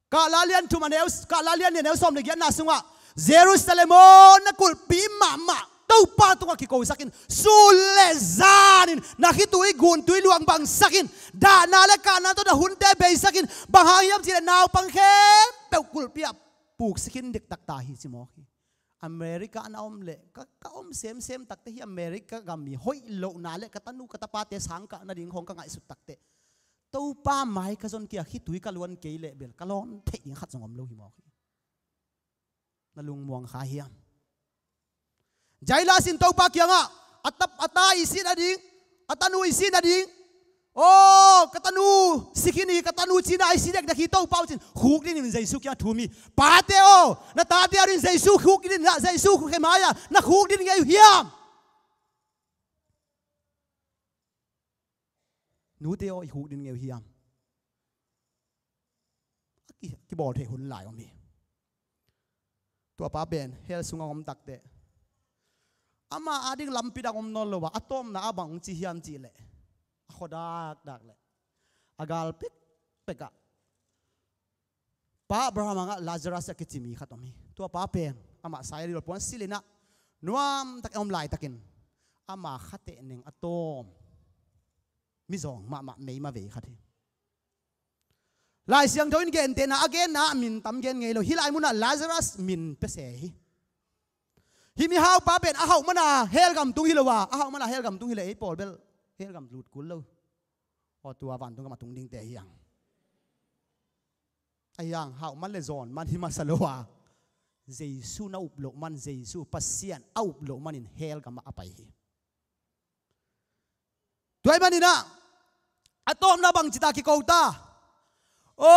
Kahla lian thum a neu, Kahla lian nih a neu sawm le giatna sungah, Jerusalem aw, na kulhpi mahmah Topa tungah kikosak in, sun le zanin na khitui guntui luang bangsak in, dahna le kahna tawh na hunte beisak in, bang hang hiam cih leh naupang khempeuh kulhpi ah puksik in diktak ta hi, ci mawk hi. America na om leh ka, ka om semsem takte hi, America gam mi hoih lohna le ka tanu ka tapate sangkah nading khawng ka ngaihsut takteh Topa mai ka zon kei a, khitui ka luan kei leh bel ka lawn theih ding khat zong om lo hi mawk hi. Na lungmuang kha hiam? Jailas in Topa kiangah a tap, a ta i si nading, a tanu i si nading, aw, ka tanu si khin hi, ka tanu cina i si dekdek hi Topa uh, ci-in khukdin in Jesu kiangah thum hi. Pate aw, na tate ading Jesu khukdin in ah, Jesu khukdin mai-ah na khukdin ngei uh hiam? Nute aw, i khukdin ngei uh hiam? A ki, kibawl theih hun lai om hi. Tua pa pen hell sungah om takteh ama ading lampi dang om nawn lo a, a tawpna ah bang hong ci hiam cih leh, a khua dakdak leh a gal pekpek ah Pa Abraham angah Lazarus a kici mi khat om hi. Tua pa pen amah sairil puan silh in ah nuamtak a om laitakin ama khatehneng a tawm mizawng mahmah meima vei khat hi. Lai Siangtho in gentehna a genna ah min tam gen ngei lo. Hih lai munah Lazarus min pia se hi. Hih mihaupa pen a hauh mana hell gam tung hi lo a, a hauh mana hell gam tung hi leh ei pawl bel hell gam lut kul lo. Aw, tua vantung gam a tung dingte hi hang. Ahi hang hauh man le zawn man hi masa lo a, Jesu na up loh man, Jesu Pasian a up loh manin hell gamah a pai hi. Tua ahih manin ah a tawpna bangci ta kiko ta? O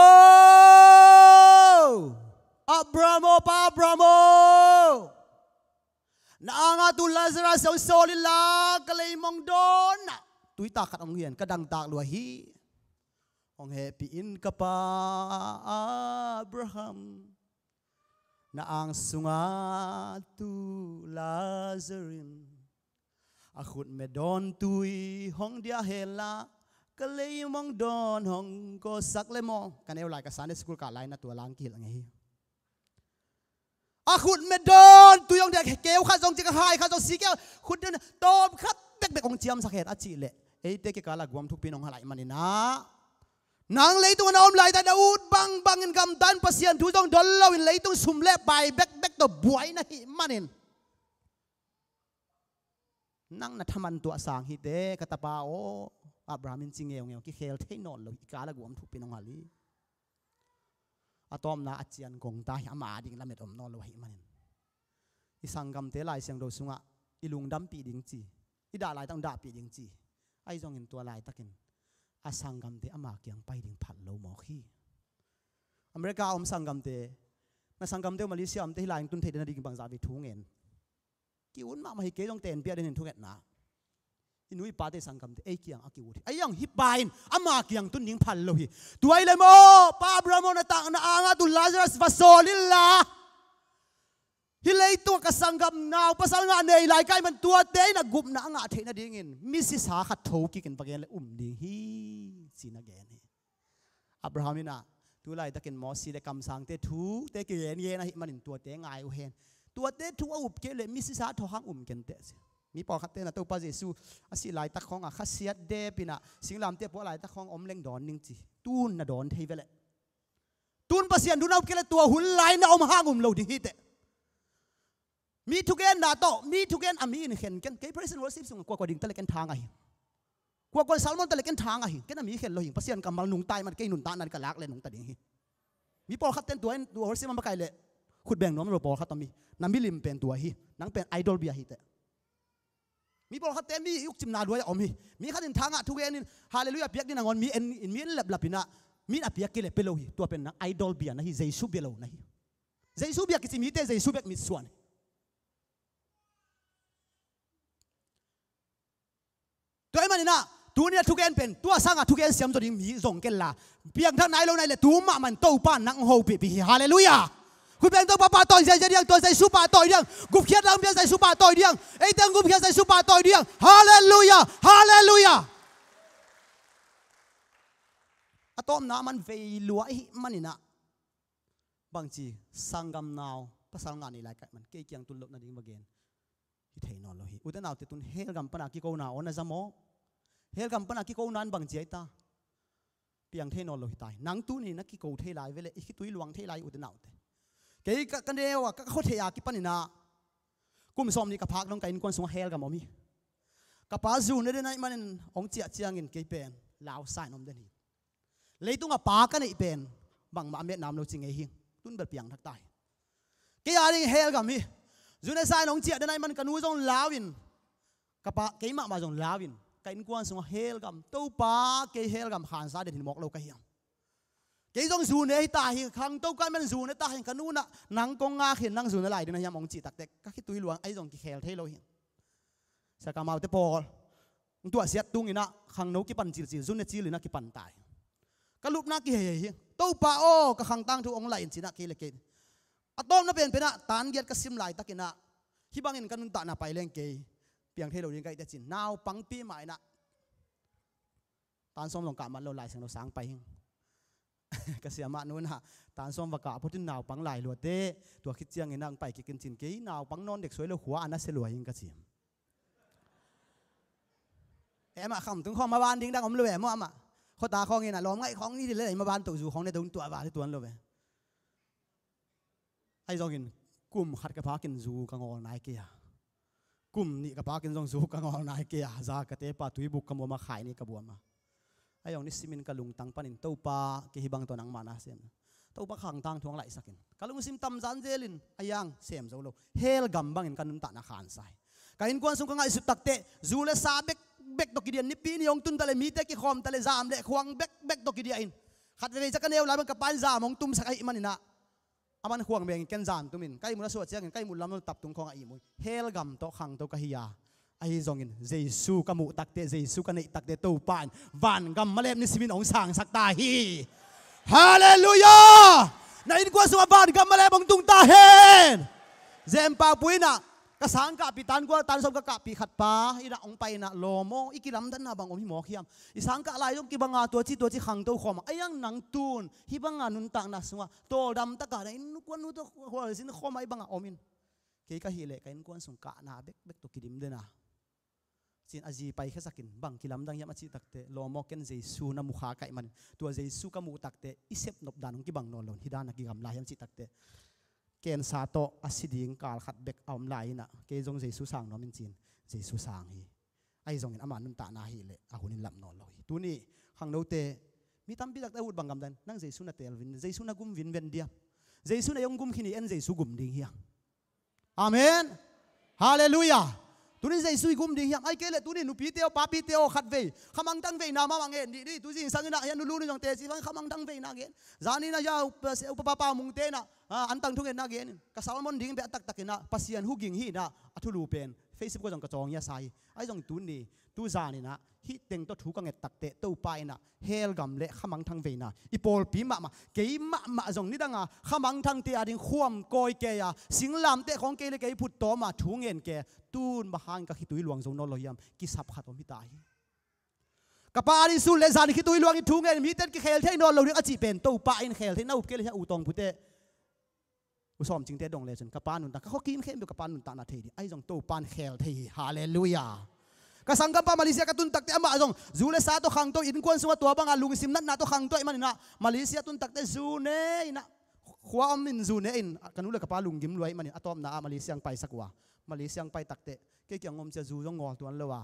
Abraham aw, Pa Abraham aw, na anga tu Lazarus hong sawl inla ka leimong dawnah tuitak khat hong hian, ka dangtak lua hi. Hong hehpih in ka pa Abraham, na ang sunga tu Lazarus in a khutme dawn tui hong dia henla ka leimong dawn hong kawsak le maw? Ka neu lai ka Sunday school kah lai na tua lang kihilh ngei hi. A khutme dawn tui hong dia, keu khat zong ci, ka hai khat zong si keu, khut dawn tawm khat bekbek hong ciamsak hen a cih leh eite kikal ah guam thukpi in hong halaih manin ah nang leitungah na om laitak na ut bangbangin gamta in Pasian thu zong dol loin leitung sum le pai bekbek tawh buai na hih manin nang na thaman tuah sang hi teh ka tapa aw. Abraham in ci ngeungeu, kikhel thei nawn lo hi, i kal a guam thupin hong hal hi. A tawpna a cian gong ta hi, ama ding lamet om nawn lo ahih manin. I sanggamte Lai Siangtho sungah i lungdampih ding ci, i dah laitak dahpih ding ci. Ahi zongin tua laitakin a sanggamte ama kiang pai ding phal lo mawk hi. America a om sanggamte, na sanggamte uh Malaysia omte hih lai-in tun theih den a ding bangzah vei thu ngen. Ki-ut mahmah hi, kei zong tenpih a den in thungetna. I nu i pate sanggamte ei kiang a ki-ut hi. Ahi zong hih pa in ama kiang tun ding phal lo hi. Tua hi leh maw, Pa Abraham aw, na tangna angah tun Lazarus va sawl inla, hih leitung a ka sanggam nau pasal ngah nei lai ka hih man, tuate in a gupna a ngah theih nadingin misisa khat tho kikin va gen leh um ding hi, ci-in a gen hi. Abraham in ah, tu laitakin Mosi le kamsangte thute kigengen ahih manin tuate ngai uh hen. Tuate thu a up kei leh misisa tho hang um kenteh, ci. Mi pawlkhatte in ah Topa Jesu a sih laitak khawngah khasiat dep in ah singlamteh puah laitak khawng om leng dawn ning ci. Tun na dawn thei ve leh. Tun Pasian thu na up kei leh tua hun lai na om hang um lo ding hi teh. Mi thugenna tawh, mi thugen a mi in khen ken. Kei praise and worship sungah kuakua ding ta leh ken thang ahi. Kuakua sermon ta leh ken thang ahi. Ken a mi khen lo hi. Pasian kammal nungta ahih man kei nuntakna in ka lak leh nungta ding hi. Mi pawlkhatte in tua in, tua worship a makaih leh khut beng nuam lo pawlkhat om hi. Na milim pen tua hi. Nang pen idol bia hi teh. Mi pawlkhatte mi ukcimna duai a om hi. Mi khat in thangah thugen in, Hallelujah piak ding nangawn mi en in, mi en laplap in ah, mi in a piak kei leh pia lo hi. Tua pen nang idol bia na hi, Jesu bia lo na hi. Jesu bia kici mite Jesu bek mitsuan hi. Tua ahih manin ah, tuni a thugen pen tua sangah thugen siam zaw ding mi zong kenla, piangthak nai lo na hih leh tu mahmah in Topa in nang hong hopihpih hi. Hallelujah. Khut beng, Topa pahtawi ziahziah ding, tua Jesu pahtawi ding. Gupkhiat dang bia Jesu pahtawi ding. Eite hong gupkhiat Jesu pahtawi ding. Hallelujah. Hallelujah. A tawpna a man vei lua ahih manin ah, bangci, sanggam nau pasal ngah nei lai ka hih man kei kiang tun loh nading va gen hi thei nawn lo hi. Ute naute, tun hell gam pana kikona aw na za maw? Hell gam pana kikona in bangci ahi ta? Piang thei nawn lo hi ta hi. Nang tuni na kiko thei lai ve leh, i khitui luang thei lai, ute naute. Kei ka, ka neu a, ka, ka khua thei a kipan in ah kum sawmnih ka phak dong ka innkuan sungah hell gam om hi. Ka pa zu ne den ahih manin hong ciah ciangin kei pen lau sa in om den hi. Leitung a pa ka neih pen bangmah a metna om lo ci ngei hi. Tun bel piangthak ta hi. Kei a ding hell gam hi. Zu ne sa in hong ciah den ahih man ka nu zong lau in, ka pa, kei mahmah zong lau in, ka innkuan sungah hell gam, Topa, kei hell gam khansa den hi mawk lo ka hiam? Kei zong zu ne hi ta hi, khangto ka hih man zu ne ta hi, ka nu in ah nang kong ngak hi, nang zu ne lai ding na hiam hong cih takteh ka khitui luang, ahi zong kikhel thei lo hi. Sia ka maute pawl, hong tuahsiat tung in ah khangno kipan cilcil, zu ne cil in ah kipan ta hi. Ka lupna kihei hi. Topa aw, ka khang tangthu hong laih in, ci in ah kei le kei. A tawpna penpen ah tan giat ka sim laitakin ah, hih bangin ka nuntakna pai leng kei piang thei lo ding ka hih teh, ci in naupangpi mah in ah, tan sawm zong kah man lo, Lai Siangtho sang pai hing. Ka siamah nu in ah, tan sawm va kah phot in naupang lai lua teh, tua khit ciangin ah hong pai kik in, ci in, kei naupang nawn dek suai lo, khua a nasia lua hing ka ci. Em ah, khamtung khawng maban ding dang om lo ve maw amah. Khuata khawng in ah lawm ngaih khawng ni dih leh maban toh zu khawng ne dong tuah va hi tuan lo ve. Ahi zongin kum khat ka phakin zu ka ngawl nai kei a, kum nih ka phakin zong zu ka ngawl nai kei a, za ka tepa tuibuk ka muam a, khai nih ka buam a. Ahi zong nisimin ka lungtang panin, Topa, kei hih bang tawh nangmah na sem. Topa, khang tangthu hong laihsak in. Ka lungsim tam zanzel in, a hiang sem zo lo. Hell gam bangin ka nuntakna khansa hi. Ka innkuan sung ka ngaihsut takteh, zu le sa bekbek tawh kidian, nipi ni hong tun ta leh mite kikhawm ta leh zam le khuang bekbek tawh kidiah in. Khat veivei ciang ka neu lai bang ka pa in zam hong tumsak ahih manin ah, a man khuang bengin ken zan tumin, ka ihmut a suah ciangin ka ihmut lam lo taptung khawngah ihmu hi. Hell gam tawh khangto ka hi a, ahi zongin Jesu ka muh takteh, Jesu ka neih takteh, Topa in vangam malep nisimin hong sangsak ta hi. Halleluiah. Na innkuan sungah vangam malep hong tung ta hen. Zempa pu in ah, ka sang kahpih, tan kua tan sawm ka kahpih khat pa in ah hong pai in ah, lawm aw, i kilamdanna bang om hi mawk hiam? I sang kah lai zong kibang a, tuaci tuaci khangto khawm a, ahi zong nang tun hih banga nuntakna sungah tawldam takah na innkuan nu tawh khualzin khawm a, hih bangah om in. Kei ka hih leh ka innkuan sung kahna bekbek tawh kidim den a, ci in a zi paikhiasak in, bang kilamdang hiam a cih takteh, lawm aw, ken Jesu na mukha ka hih manin, tua Jesu ka muh takteh i sepnop dan hong kibang nawn lo in, hih dan a kigam lai hiam cih takteh, cancer tawh a si ding kal khat bek a om lai in ah, kei zong Jesu sang nuam in, ci in Jesu sang hi. Ahi zongin ama nuntakna hi leh a hun in lam nawn lo hi. Tuni khangnote, mi tampi takte a ut bang gamdan, nang Jesu na teel vin, Jesu na gum vin ven diam? Jesu na hong gum khin hi, en Jesu gum ding hiam? Amen. Halleluiah. Tuni Jesu i gum ding hiam? Ai kei leh tuni nupite aw, papite aw, khat vei khamangthang veina mahmah ngen dih ni. Tu zingsang inah hian nulu ni zong teci vang khamangthang veina ngen. Zani na ya upa, upa papa mungte inah, ah, antang thungetna ngen in. Ka sermon ding beh a taktak inah Pasian hu ging hi inah a thulu pen Facebook ah zong ka cawng ia sa hi. Ai zong tuni, tu zan inah hih teng tawh thu ka nget takteh Topa inah hell gam le khamangthang veina i pawlpi mahmah, kei mahmah zong nidanga khamangthangte a ding khuam kawi kei a, singlamteh khawng kei le kei phuttawm a thu ngen kei, tun bang hangin ka khitui luang zo nawn lo hiam? Kisap khat om hi ta hi. Ka pa a ding sun le zan khitui luang in thu ngen, mite in kikhel thei nawn lo ding a cih pen Topa in khel thei, na up kei le hia u tawng pute. U Sawm Cingte dong lecin ka pa nuntak, ka khuakim khempeuh ka pa nuntakna thei ding. Ahi zong Topa in khel thei hi. Halleluiah. Ka sanggampa Malaysia ka tun takteh amah zong zu le sa tawh khangto, innkuan sungah tua banga lungsim natna tawh khangto ahih maninah Malaysia tun takteh zu ne inah, khua om in zu ne in, ka nu le ka pa lunggim lua ahih manin a tawpna ah Malaysia ang paisak uh a, Malaysia ang pai takteh kei kiang om cia zu zong ngawl tuan lo a,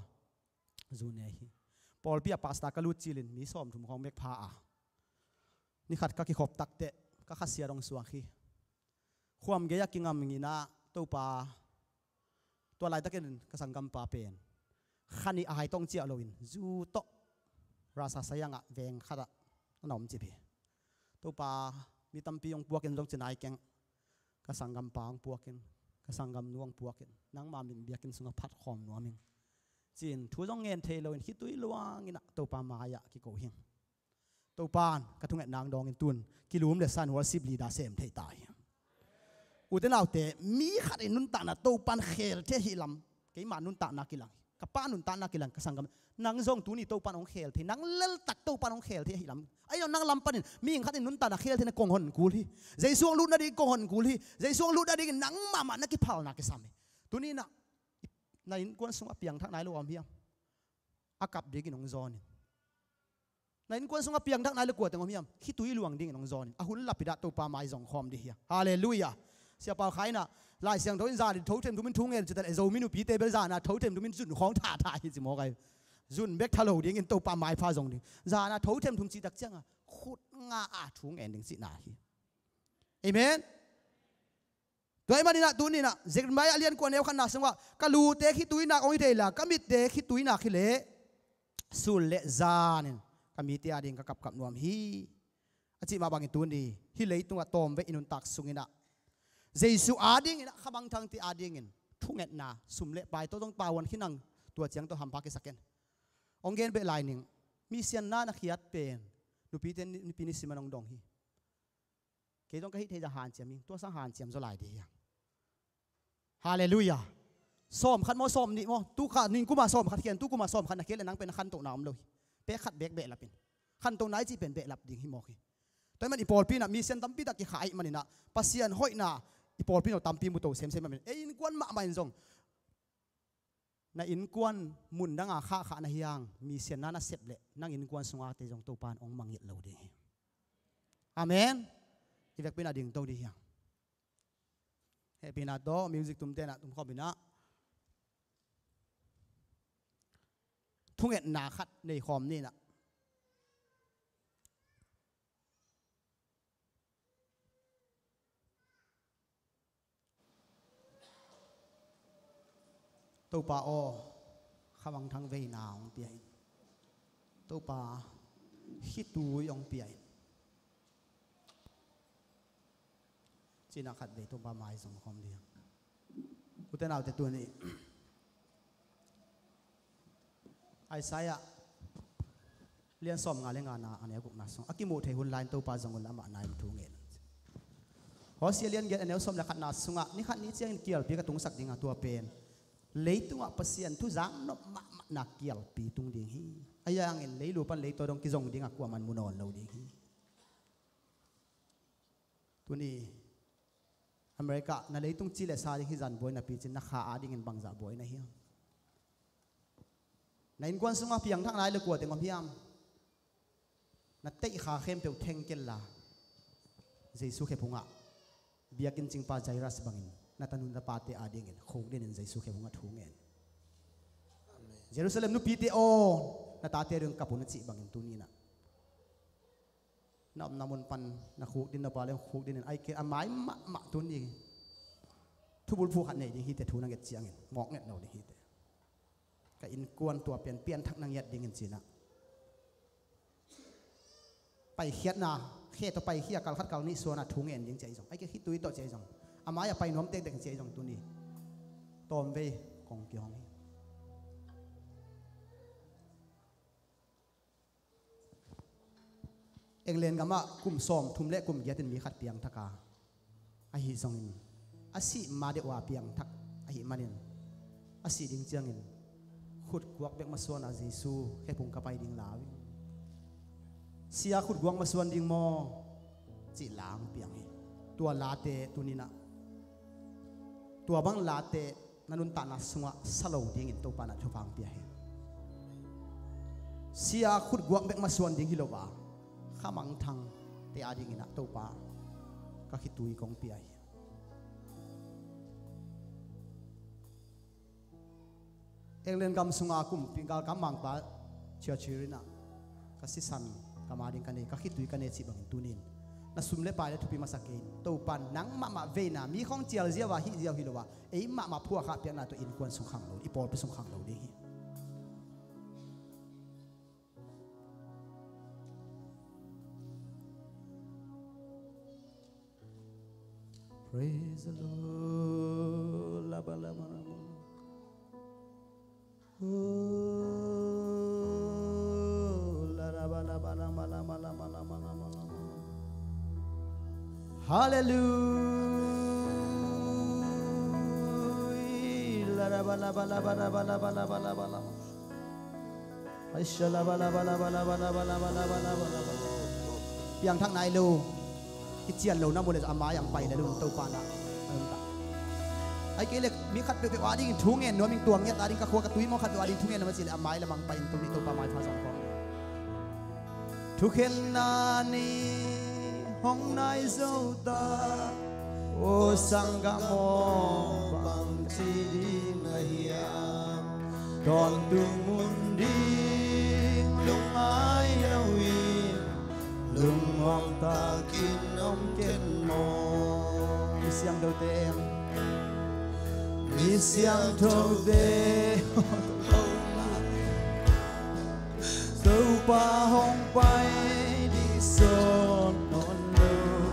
zu ne hi. Pawlpi ah pastor ka lut cilin mi sawmthum khawng bek pha a, ni khat ka kikhop takteh ka khasia dong suak hi. Khuam gei-ah kingam nginah Topa, tua laitakin ka sanggampa pen kha nih a hai tawng ciah loin zu tawh rasa sayangah veng khatah a na om cip hi. Topa, mi tampi hong puakin zong ci nai keng, ka sanggampa hong puakin, ka sanggamnu hong puakin, nangma min biakinn sungah phat khawm nuam ing, ci-in thu zong ngen thei loin khitui luanginah Topa mai-ah kiko hi. Topan ka thungetna ang dawngin tun kilum le san worship leader sem thei ta hi. Ute naute, mi khat in nuntakna Topan khel thei hi lam. Keima nuntakna kilang hi, ka pa nuntakna kilang, ka sanggam. Nang zong tuni Topan hong khel thei, nang leltak Topan hong khel thei hi lam. Ahi zong nang lam panin mi khat in nuntakna khel thei na kong hon kul hi. Jesu hong lut nading kong hon kul hi. Jesu hong lut nadingin nang mahmah na kiphalna kisam hi. Tuni na, na innkuan sungah piangthak nai lo om hiam? A kap dingin hong zawnin. Na innkuan sungah piangthak nai le kua teng om hiam? Khitui luang dingin hong zawnin. A hun lapitah Topa mai zong khawm dih hiam? Halleluiah. Siapa Khai inah Lai Siangtho in zan in tho themthum in thu ngen ci ta le, Zomi nupite bel zan a tho themthum in zun khawng thatha hi ci mawk ai. Zun bek tha lo dingin Topa maipha zong ding. Zan a tho themthum cih tak cianga khut nga a thu ngen ding cihna hi. Amen. Tua ahih maninah tuninah Jeremiah a lian kua neu khatna sungah ka lute khitui nak hong hi thei la, ka mitte khitui nak hi leh sul le zanin ka mite ading ka kapkap nuam hi, a cih mah bangin tuni hih leitungah tawmvei i nuntak sunginah Jesu adinginah khamangthangte adingin thungetna, sum le pai tawh zong pauan khinang, tua ciang tawh hampha kisak in. Hong gen beh lai ning, misianna na khiat pen nupite nipi ni siman hong dong hi. Kei zong ka hih thei zah hanciam ing, tua sang hanciam zaw lai dih hiang. Halleluiah. Sawm khat maw, sawm nih maw, tu kha ning kuma sawm khat khian, tu kuma sawm khat na khian le nang pen na khantohna om lo hi. Pek khat bek behlap in. Khantohna i cih pen behlap ding hi mawk hi. Tua ahih man i pawlpi inah misian tampi tak kikha ahih maninah Pasian hoihna i pawlpi inah tampi mu to semsem ahih manin ei innkuan mahmah in zong na innkuan mun danga khahkhah na hiang, misianna na sep leh nang innkuan sungate zong Topa in hong mangngilh lo ding hi. Amen. I vekpi inah dingto dih hiang. Hehpihna tawh music tumte inah tumkhawm inah thungetna khat nei khawm ni inah. Topa aw, khamangthang veina hong pia in. Topa, khitui hong pia in. Cinah khat vei Topa mai zong khawm dih. Ute naute tuni Isaiah lian sawm nga le ngana a neu gukna sung a kimuh thei hun lai-in Topa zong un la amah nai-in thu ngen. Hosea lian giat a neu sawm le khatna sungah ni khat ni ciangin kialpi ka tungsak ding a, tua pen leitungah Pasian thu zak nop mahmahna kialpi tung ding hi. A yangin leilu pan leitaw dong kizong ding a kuaman mu nawn lo ding hi. Tuni America na leitung ci le sa ding hi zan buai napi cin na kha adingin bangzah buai na hiam? Na innkuan sungah piangthak nai le kua teng om hiam? Na teihkha khempeuh thengkel la Jesu khephungah biakinn cingpa Jairus bangin na tanu na pate adingin khukdinin Jesu khephungah thu ngen. Amen. Jerusalem nupite aw, na tate dong kap un a cih bangin tuni-in ah na omna mun pan na khukdin, na pale khukdin in, ai ke a mai mahmah tuni thubulphuh khat nei ding hi teh, thu na nget ciangin mawk nget lo ding hi teh. Ka innkuan tua pian pianthak na ngiat dingin ci-in ah paikhiatna khe tawh paikhia, kal khat kal nih suan a thu ngen ding ci-a i zong, ai ke khitui tawh ci-a i zong, a mai-ah pai nuam tektek ci-a i zong tuni tawmvei kong kihong hi. England gamah kum sawmthum le kum giat in mi khat piangthak a, ahi zongin a sih ma deuh a piangthak ahih manin, a sih ding ciangin khutguak bek masuan a Jesu khephung ka pai ding lau in, sia khutguak masuan ding maw, cih la hong piang hi. Tua late tuni-in ah, tua bang late na nuntakna sungah sa lo dingin Topa in ah thupha hong pia hi. Sia khutguak bek masuan ding hi lo a, khamangthangte a dingin ah Topa ka khitui kong pia hi. England gam sunga kumpi galkap mangpa Churchill in ah, ka sisan ka ma ding ka nei, ka khitui ka nei cih bangin tuni-in na sum le pai le thupi masa kei in, Topa in nang mahmah veina, mi khawng cial ziau a hih ziau hi lo a, ei mahmah phuahkhak piakna tawh innkuan sung khang lo, i pawlpi sung khang lo ding hi. Praise the Lord. Laba, laba, laba. Oh, la, laba, laba, laba, laba, laba. Hallelujah. La, laba, laba, laba, laba, laba, laba, laba, laba. Piangthak nai lo, kician lo na mu le zong a mai-ah hong pai le lo, Topa in ah a nuntak. Ai kei le mi khat peuhpeuh a dingin thu ngen nuam ing, tua ngiat a ding, ka khua ka tui maw, khat peuh a ding thu ngen nuam a cih le a mai lamah hong pai in, tuni Topa maipha zong kong. Thukhenna ni hong nai zo ta, aw sanggam aw, bangci ding na hiam? Tawntung mun ding lungngai loin, lungmuang takin om ken maw? Mi siangthote, mi siangthote, Topa hong pai ding sawt nawn lo,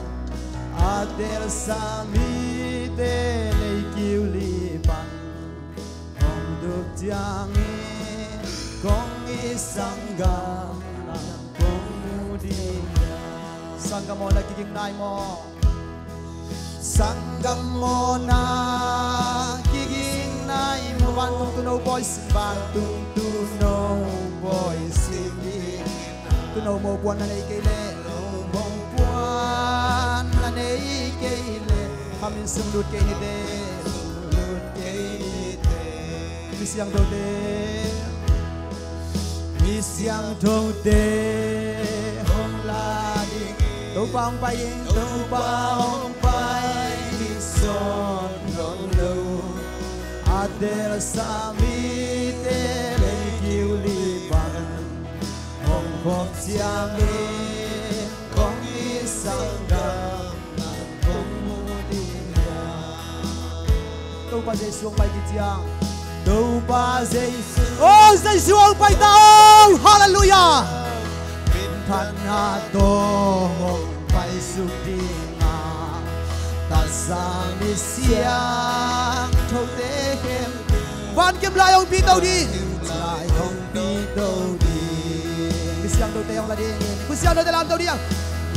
a telsa mite lei kiu li pan hong dup ciangin, kong it sanggam nang kong mu ding. Sanggam aw, na kiging nai maw? Sanggam aw, na kiging nai maw? Vantung Tuuno pawi sing, vantung Tuuno pawi sing ding. Tuuno mopuan na nei kei leh, mopuan na nei kei leh, khamin sung lut kei ni teh, lut kei ni teh. Mi siangthote, mi siangthote hong la ding, Topa hong pai ding, Topa hong pai ding sawt nawn lo. A telsa mite lei kiu li pan hong khop ciangin, kong it sanggam nang kong mu ding hiam? Topa Jesu hong pai kiciang, Topa Jesu, oh, Jesu hong pai ta, oh, hallelujah. Minthanna tawh hong paisuk ding a, taksa mi siangthote khempeuh, van kem lai hong pito ding, lai hong pito ding. Mi siangthote hong la ding, mi siangthote lamto ding.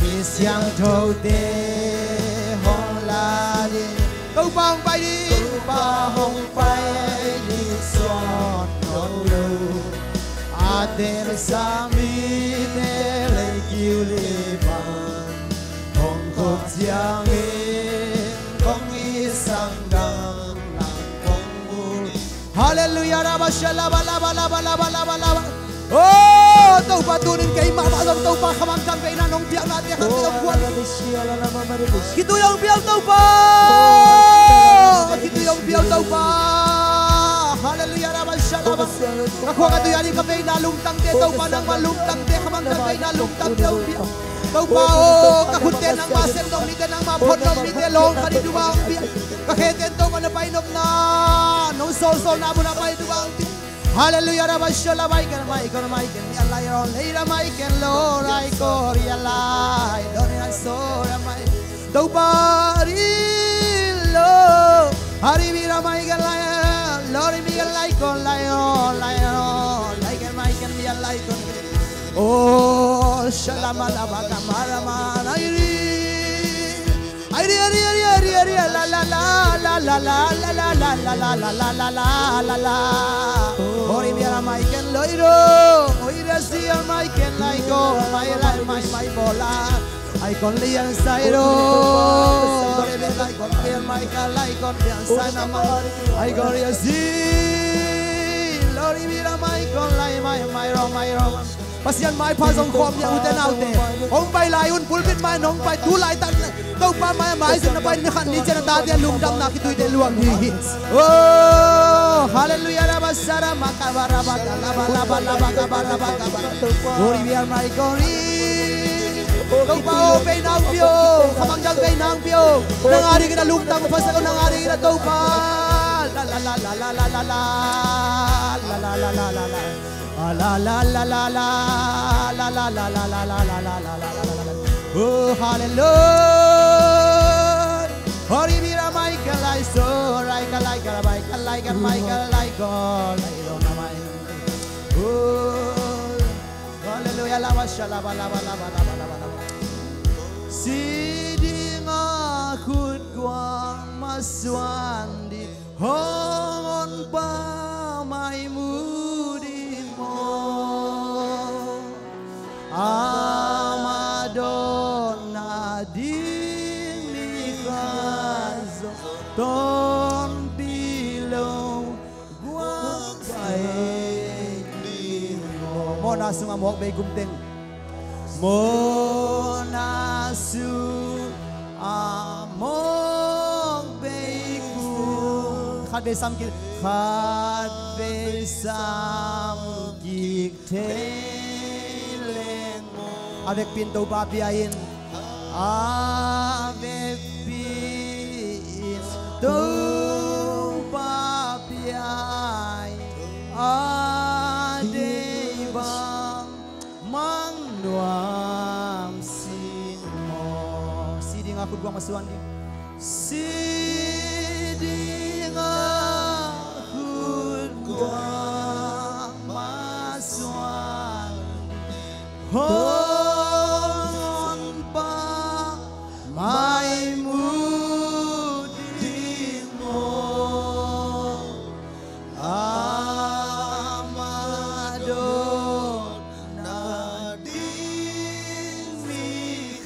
Mi siangthote hong la ding. Topa hong pai ding, Topa hong pai ding sawt nawn lo. A telsa mite lei kiu li pan hong khop ciangin, kong it sanggam nang kong mu ding. Hallelujah, rabba shalaba laba laba laba laba laba. Oh, Topa, tuni-in keimah mah zong Topa khamangthang veina nong piaknate khat zong kuan. Khitui hong pia o Topa. Khitui hong pia o Topa. Hallelujah, rabba shalaba. Ka khua ka tui a ding ka veina lungtangte, Topa nangmah lungtangte, khamangthang veina lungtangte hong pia. Topa aw, ka khutte nangmah sem nop nite, nangmah phot nop nite, lawng khat i duh bang hong pia. Ka khete in Topa na pai nopna, nong sawlsawlna mun a pai duh bang hong pia. Halleluiah, rabba shala bai kan mai kan mai kan ya lai ron lei ra mai kan lo rai ko ria lai don ran so ra mai. Topa ri lo hari mi ra mai kan lai lo ri mi kan lai kon lai ron lai ron lai kan mai kan mi lai kon. Oh shalama laba kamara ma lai ri. Ai ri, ai ri, ai ri, ai ri, ai ri, la, la, la. Ori biara mai ken loiro, oi ra sia mai ken laiko, mai lai mai mai bola. Ai kon lian sairo, ori biara ai kon lian mai ka lai kon lian sai na mai. Ai kon ria si, lori biara mai kon lai mai mai ro mai ro. Pasian maipha zong khawm dia ute naute. Hong pai lai un pulpit mai nong pai tu laitak le Topa mai a maizum na pai ni khat ni ciang a tate a lungdamna kituite luang hi hi. Oh, halleluiah, rabba sara makaba rabba kalaba laba laba kaba rabba kaba. Ori biar mai kori. Topa o pei nang pio, khamang dang pei nang pio. Nang a dingin a lungdam phasak o nang a dingin a Topa. La la la la la la la la. La la la la la la. Ah, la la la la la. Oh, hallelujah. Hori bira mai kalai so, rai kalai kalai kalai kalai kalai kalai. Oh, hallelujah. Laba shalaba laba laba laba laba laba. Si ding a khut guang masuan ding. Hong honpa mai mu ding maw? Ama dawn nading ni khat zong tonpih lo guak pai ding maw? Mawhna sungah mawk bei gum teng. Mawhna sungah mawk bei gum. Khat vei sam kik, khat vei sam kik thei leng. A vekpi in Topa pia in. A vekpi in Topa pia in. A dei bang mang nuam sin maw? Si ding a khut guang masuan ding. Si ding a khut guang masuan ding. Hong honpa mai mu ding maw? Ama dawn nading mi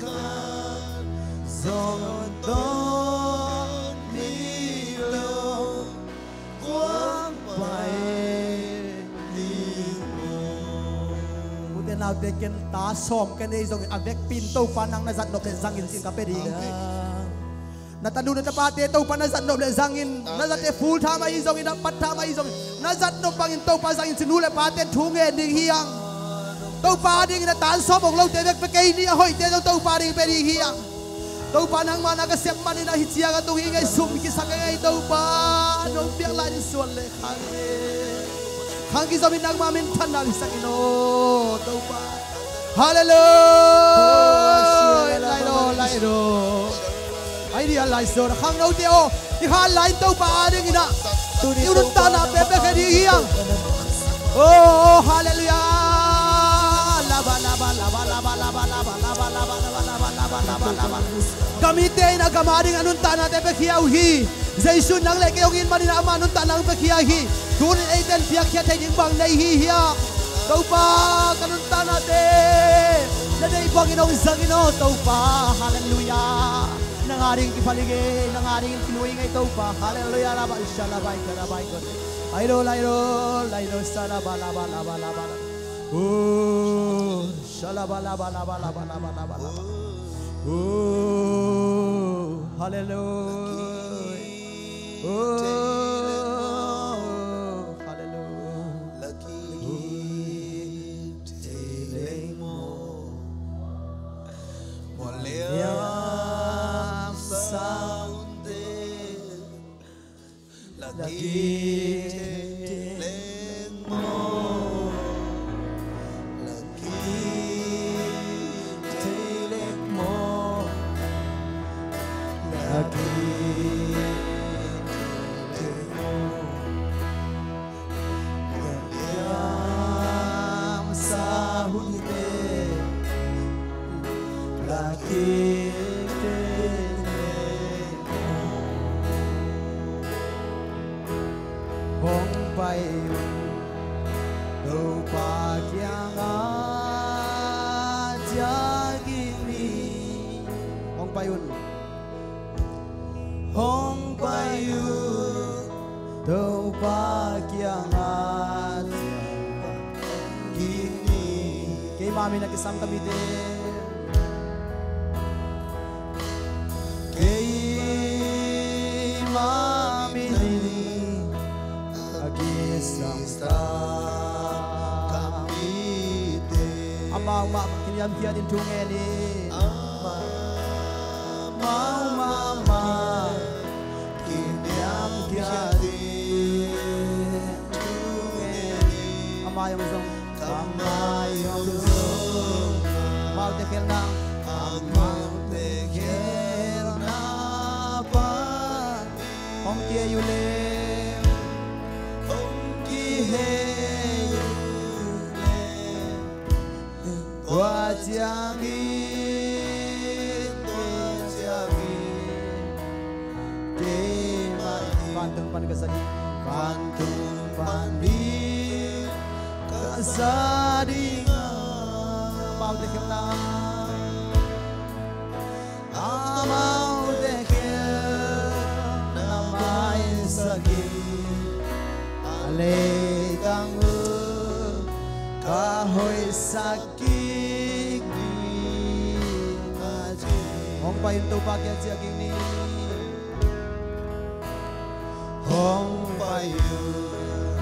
khat zong tonpih lo guak pai ding maw? Ute naute, ken ta sawm ka nei zongin a vekpi in Topa nang na zat nop leh zangin cih ka pia ding. Na tanu na tapate Topa na zat nop leh zangin, na zate full time ahi zongin, na part time ahi zongin, na zat nop bangin Topa zangin ci, nu le pate in thu ngen ding hi hang. Topa dingin a tan sawm ong lote bek pia kei ni, a hoihte zong Topa ding pia ding hi hang. Topa nangmah na ka sep manin ahi ciang a tung hi ngei, sum kisak ngei Topa, nong piak lai in suan le khang e. Khang kizomin nangmah minthanna hisak in aw Topa. Halleluiah. Lai lo, lai lo. Ai dia lai so na khangnote aw. I khan lai Topa a dingin a, i nuntakna pia pia khe ding hi hang. Oh, halleluiah. Laba laba laba laba laba laba laba laba laba laba laba laba laba laba. Ka mite in a gam a ding a nuntaknate piakhia uh hi. Jesu in nang le kei hong it manin amah nuntakna hong piakhia hi. Tunin eite in piakhia thei ding bang nei hi hiam? Topa, ka nuntaknate na deih bangin hong zang in aw Topa. Halleluiah. Nang a dingin kiphal hi ngei, nang a dingin kilu hi ngei Topa. Halleluiah. Laba shalaba ika laba ika. Ai lo lai lo lai lo shalaba laba laba laba laba. Oh. Shalaba laba laba laba laba laba laba. Oh, hallelujah. Oh, hallelujah. Hong pai un Topa kiangah ciah kik ni. Hong pai un. Hong pai un Topa kiangah ciah kik ni. Keima min a kisam ka mite. Keima min a kisam ka mite. Amau mah kiniamkhiat in thu ngen ni. Amau mah kiniamkhiat in thu ngen ni. Amau zong, amau zong, amaute khelhna, amaute khelhna pan hong kihei uh leh, hong kihei uh leh, tua ciangin, tua ciangin keimah vantung pan ka za ding, vantung pan ding ka za ding. Amaute khelhna, amaute khelhna maisak in, a leitang uh ka hoihsak kik ding, a ci. Hong pai un Topa kiangah ciah kik ni. Hong pai un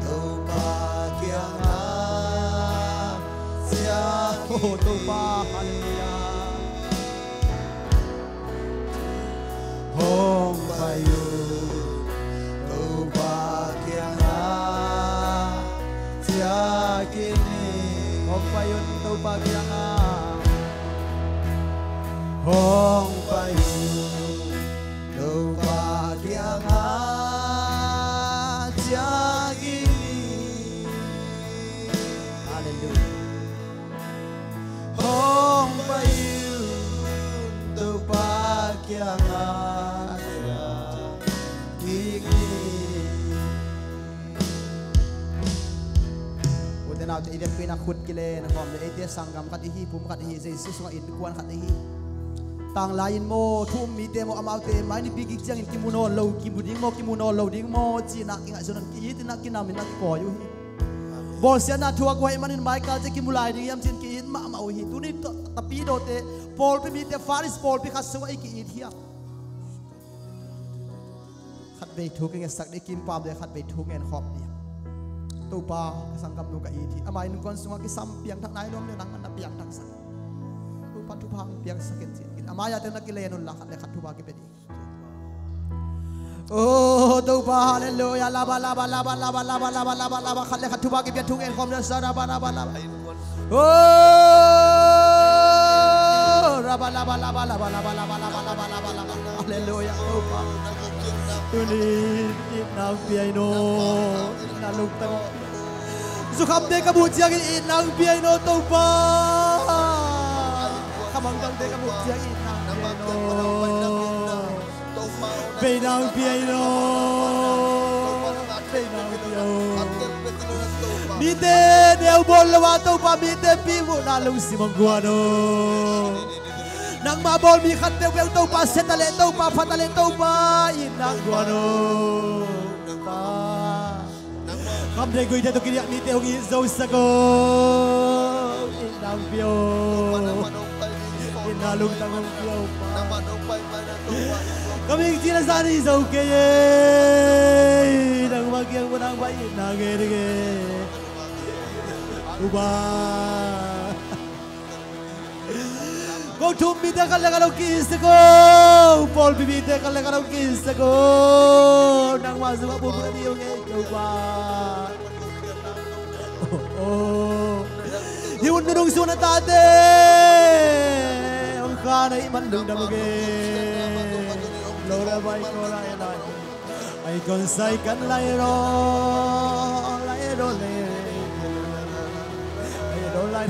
Topa kiangah ciah kik ni. Oh, Topa, hallelujah. Hong pai un Topa kiangah ciah kik ni. Hong pai un Topa kiangah. Hong pai un Topa kiangah ciah kik ni. Hallelujah. Hong pai un Topa kiangah ciah kik ni. Ute naute, i vekpi in a khut kilen khawm le, eite sanggam khat i hi, pum khat i hi, Jesu sungah innkuan khat i hi. Tanglai in maw, thu um mite maw, amaute mai nipi kik ciangin kimu nawn lo, kimu ding maw, kimu nawn lo ding maw, ci-in ah kingaihsun, ki-it in ah, kinam in ah kikawi uh hi. Bawlsiatna thu a guai manin maikal ciang kimu lai ding hiam ci-in ki-it mahmah uh hi. Tuni tapidawte, pawlpi mite, Faris pawlpi khat sungah i ki-it hiam? Khatvei thu kingetsak dih, kimpam dih, khatvei thu ngen khawm dih. Topa, ka sanggamnu ka it hi. Ama innkuan sungah kisam piangthak nai lo om leh nang na piangthaksak. Topa, thupha hong piangsak in ci-in, ama yate na kilen unla, khat le khat thupha kipia dih. Oh, Topa, hallelujah. Laba, laba, laba, laba, laba, laba, laba, laba, laba. Khat le khat thupha kipia, thu ngen khawm dih. Sa, laba, laba, laba. Oh, raba, laba, laba, laba, laba. Hallelujah, Topa. Tuni itna hong pia in aw. Itna lungtang. Zukhamte ka muh ciangin itna hong pia in aw, Topa. Khamangthangte ka muh ciangin itna hong pia in aw. Beina hong pia in aw. Beina hong pia aw. Mite neu bawl lo a, Topa, mite pihmuhna lungsim hong guan aw. Nangmah bawl mi khat peuhpeuh, Topa, sia ta leh, Topa, pha ta leh, Topa, itna hong guan aw. Topa. Khamtheih guihtheih tawh kiniah mite hong it zosak aw. Itna hong pia aw. Itna lungtang hong pia aw, Pa. Ka mihing cihna zah nih zo kei ei. Nangmah kiang pan nangmah itna ngei ding ei. Topa. Ko thu um mite khat le khat hong ki-it sak aw. Pawlpi mite khat le khat hong ki-it sak aw. Nangmah sungah pumkhat ding hong ngen, Topa. Oh, oh. Hih hun nunung sung na tate hong khan ahih man lungdam uh kei. Lo la bai ko la e bai. Ai kon sai kan lai ro, lai ro le. Ai ro lai.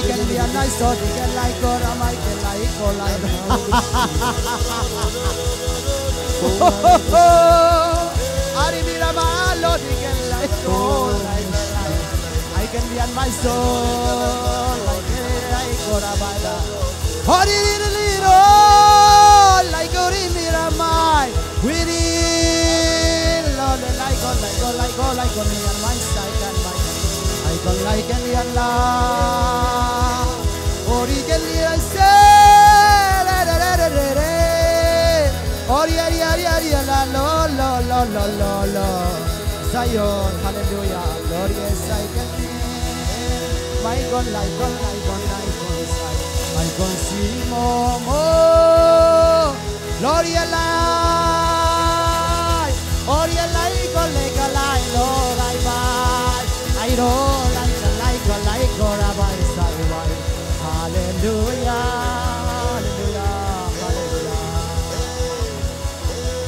I can be a nice sort, I can like God, I can like God, like God. Ari mira malo, I can like God, like God. I can be on my soul, like, like, like, ora bada. Hori little, like, ori mira mai. We need, Lord, like, like, like, like, me and my side and my, I don't like any and la. Ori ke lira se, re, re, re. Ori, ori, ori, ori, la, lo, lo, lo, lo, lo, lo. Zion, hallelujah. Glory, I can. Mai kon, lai kon, lai kon, lai kon, sai. Mai kon si mo mo. Glory, lai. Glory, lai kon, lai kon, lai, lo, lai, bai. Ai, lo, lai, lai kon, lai kon, ra, bai, sai, bai. Hallelujah. Hallelujah. Hallelujah.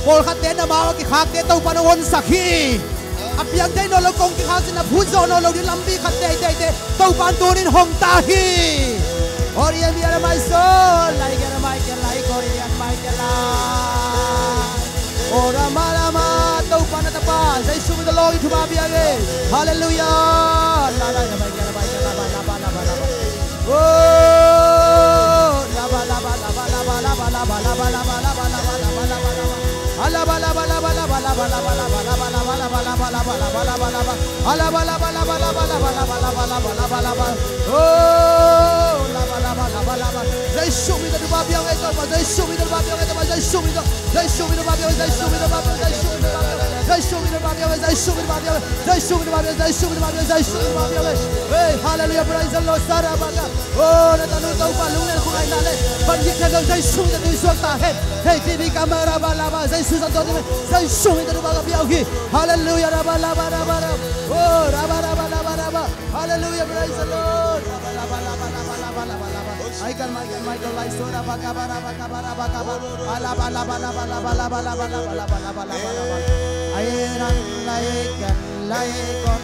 Pawlkhatte na mau a kikhakte Topa'n hong honsak hi. A piang thei nawn lo kong kikhak cih a phut zawh nawn lo ding lampi khat teiteite Topa'n tuni-in hong tak hi. Ori a mi a mai so, lai ke a mai ke lai, ori a mai ke lai. Ora ma la ma, Topa na tapa, Jesu min tawh lawng in thupha pia ing. Hallelujah. La la la mai ke la mai ke la ba la ba la ba la ba. Oh, laba, laba, laba. Jesu min tawh thupha pia ing, Topa. Jesu min tawh thupha pia ing, Topa. Jesu min tawh. Jesu min tawh thupha pia ing, Jesu min tawh thupha pia ing, Jesu min tawh thupha pia ing. Jesu min tawh thupha pia ing, Jesu min tawh thupha pia ing, Jesu min tawh thupha pia ing. Hey, hallelujah, praise the Lord. Sarabaka. Oh, na tanu Topa lunglen khong ai na le. Ban yik thei lo Jesu min tawh tui suak ta hen. Hey, tini ka ma ra ba la ba Jesu min tawh tuni. Jesu min tawh thupha ka pia ing. Hallelujah, rabba, rabba, rabba, rabba. Oh, rabba, rabba, rabba, rabba. Hallelujah, praise the Lord. Rabba, rabba, rabba, rabba, rabba, rabba, rabba. Michael, Michael, Michael, like so, rabba, rabba, rabba, rabba, rabba, rabba. Rabba, rabba, rabba, rabba. Ay, ran, like, like, on,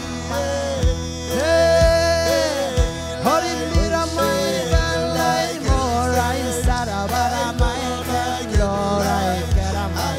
hey. Holy Mira, my God, like, more, I, Sarabara, my God, Lord, I, Karamai.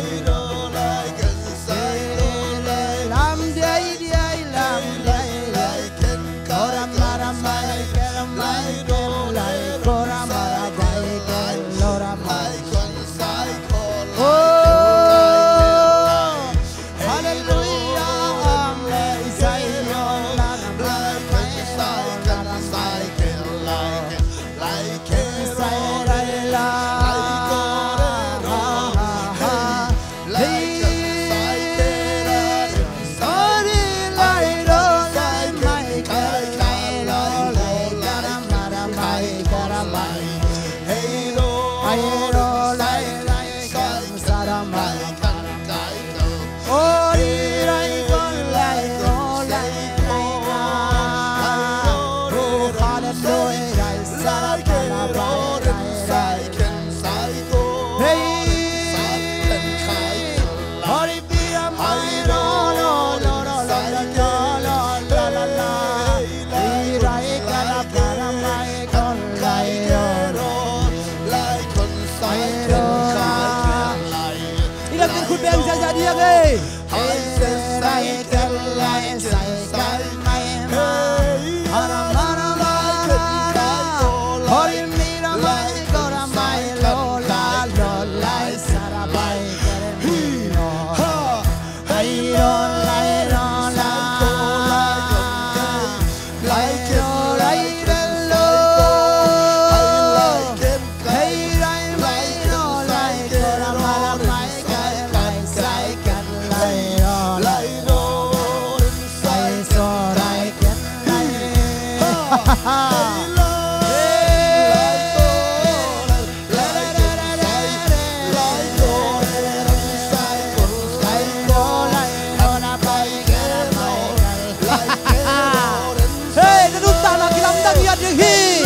Hey, na nuntakna kilamdang hi a ding hi.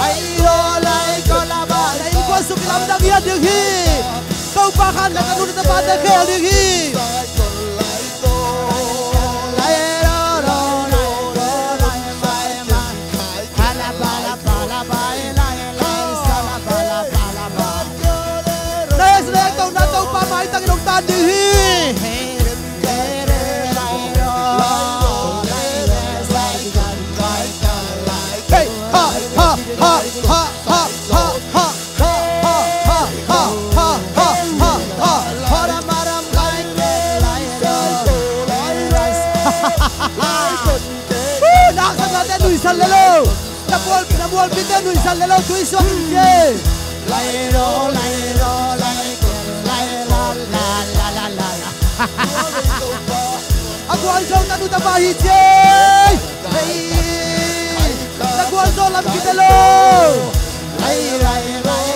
Ai, lo, lai, ko, la, ba, na innkuan sung kilamdang hi a ding hi. Topa khan na ka nu na ka pate khel ding hi. Na hehsa na hehtohna Topa maitang in hong tan ding hi. Hey, ha, ha, ha. Woo! Naksatte nuisan le lo. Na mual, na mualpite nuisan le lo, tui suak in ci. A gualzo tanu tapa hi ci. Hei. Na gualzo lam kite lo. Hei, hei, hei.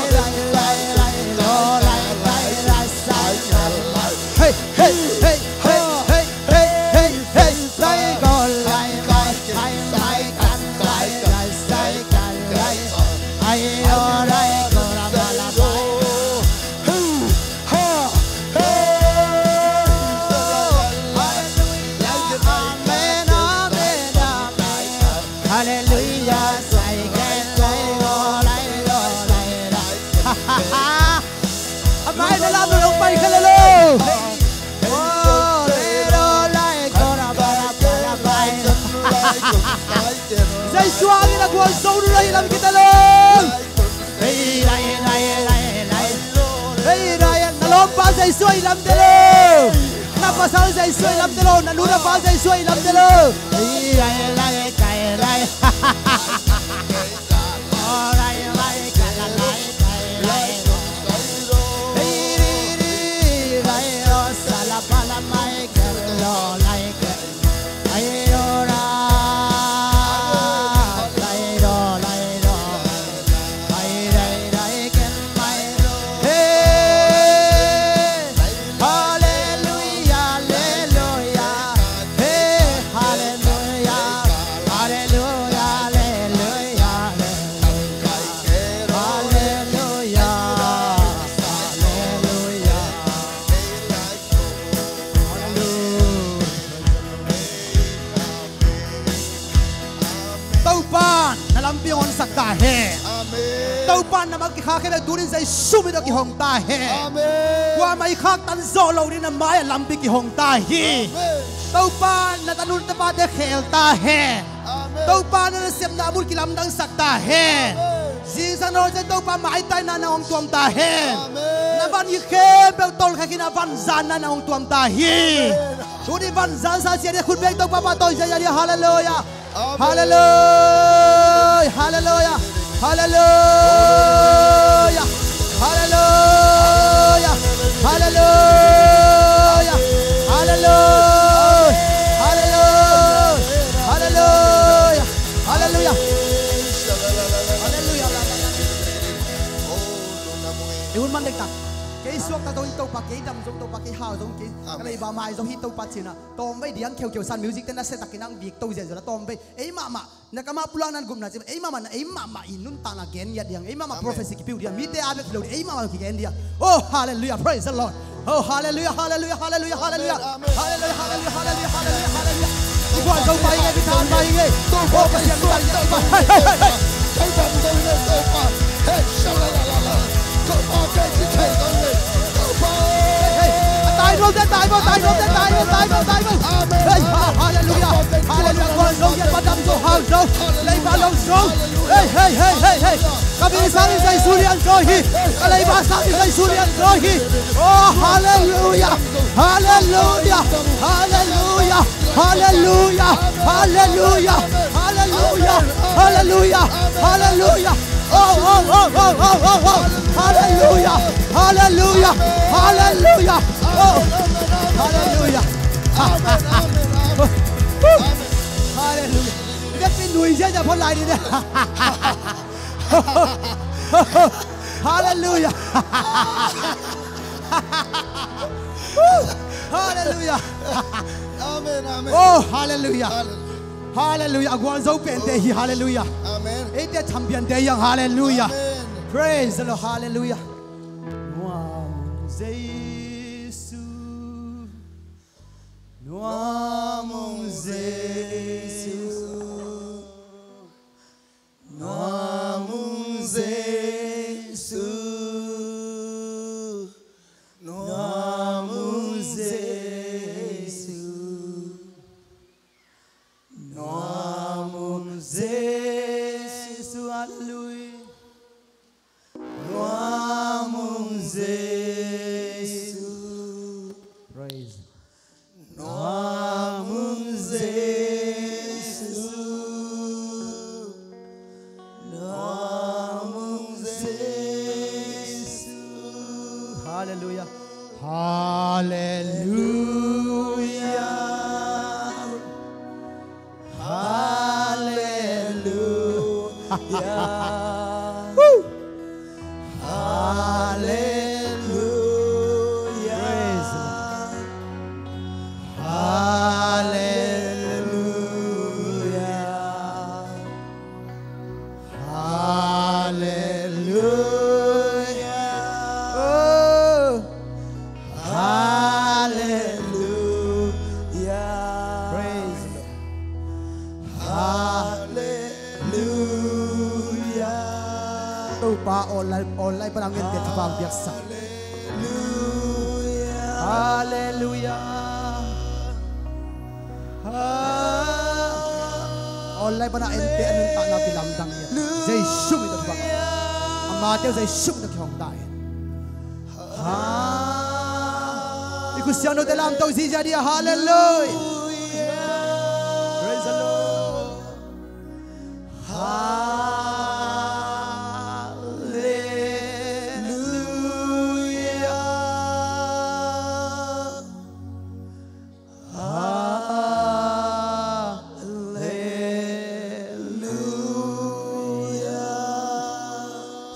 Amah in a lam lo pai kha le lo. Jesu hangin a gualzo nung ahi lam kite lo. Hei, na lawmpa Jesu ahi lam te lo. Na pasal Jesu ahi lam te lo. Na nu na pa Jesu ahi lam te lo. piang honsak ta hen. Amen. Topa, na mah kikhak khempeuh tuni-in Jesu min tawh kihong ta hen. Amen. Kuamah i khaktan zawh loh ding na mai-ah lampi kihong ta hi. Amen. Topa, na tanu na tapate khel ta hen. Amen. Topa, na nasepna a mun kilamdangsak ta hen. Amen. Zingsang na hong ciang Topa, maitaina na hong tuam ta hen. Amen. Na van ngit khempeuh tolkhia khin a, vanzanna na hong tuam ta hi. Amen. Tuni vanzan sa sia ding khut beng Topa pahtawi ziahziah ding. Halleluiah. Amen. Halleluiah, halleluiah, halleluiah. Halleluiah, halleluiah, halleluiah. Halleluiah, halleluiah, halleluiah. Halleluiah. I hun man dektak. Kei suakta zong hi Topa, kei dam zong Topa, kei hau zong kei. Amen. Ka leiba mai zong hi Topa ci-in ah. Tawmvei diang kheukheu san music te na se takin ang bik to ziahziah la tawmvei. Ei mahmah. Na kamah pulak nan gupna ci, ei mahmah na, ei mahmah i nuntakna gen ngiat diang, ei mahmah prophecy kipiu diang, mite a bek hi lo ding, ei mahmah kigen diang. Oh, halleluiah, praise the Lord. Oh, halleluiah, halleluiah, halleluiah, halleluiah. Amen, amen. Halleluiah, halleluiah, halleluiah, halleluiah, halleluiah. I guan zo pai nge, i than pai nge. Oh, Pasian, i than pai nge. Hey, hey, hey, hey. Hey, hey, hey, hey. Hey, sha-la-la-la-la. Topa, kei ci thei lo hi. Topa. Hey, hey. A tai lo, a tai lo, a tai lo, a tai lo, a tai lo, a tai lo. Amen. Hey, ha-, halleluiah. Halleluiah. Guan zo, ngiat, madam zo, hau zo. Leiba lo zo. Hey, hey, hey, hey, hey. Ka mi sang in Jesu lian zo hi. Ka leiba sang in Jesu lian zo hi. Oh, halleluiah. Halleluiah. Halleluiah. Halleluiah! Halleluiah! Halleluiah! Halleluiah! Halleluiah! Oh, oh, oh, oh, oh, oh, oh! Halleluiah! Halleluiah! Halleluiah! Oh! Halleluiah! Halleluiah! Biakpi nui ziahziah phot lai ni. Halleluiah! Halleluiah! Amen, amen. Oh, halleluiah. Halleluiah. Halleluiah. A gualzo pente hi, halleluiah. Amen. Eite champion te hi hang, halleluiah. Amen. Praise the Lord, halleluiah. Nuam Jesu, nuam Jesu. Nuam Jesu, nuam Jesu, nuam Jesu, halleluiah. Nuam Jesu. Praise. Nuam Jesu, nuam Jesu. Halleluiah. Halleluiah. Halleluiah. Woo. Halleluiah. Praise the Lord. Halleluiah. Halleluiah. Oh. Halleluiah. Praise the Lord. Halleluiah. Topa, online, online pan a ngente thupha piaksak. Halleluiah. Halleluiah. Ha-, online pan a ente a nuntakna kilamdang hi. Jesu min tawh thupha. Amate uh Jesu min tawh kihong ta hen. Ha-, i khutsiang note lamto ziahziah dih a, halleluiah. Praise the Lord. Halleluiah. Halleluiah.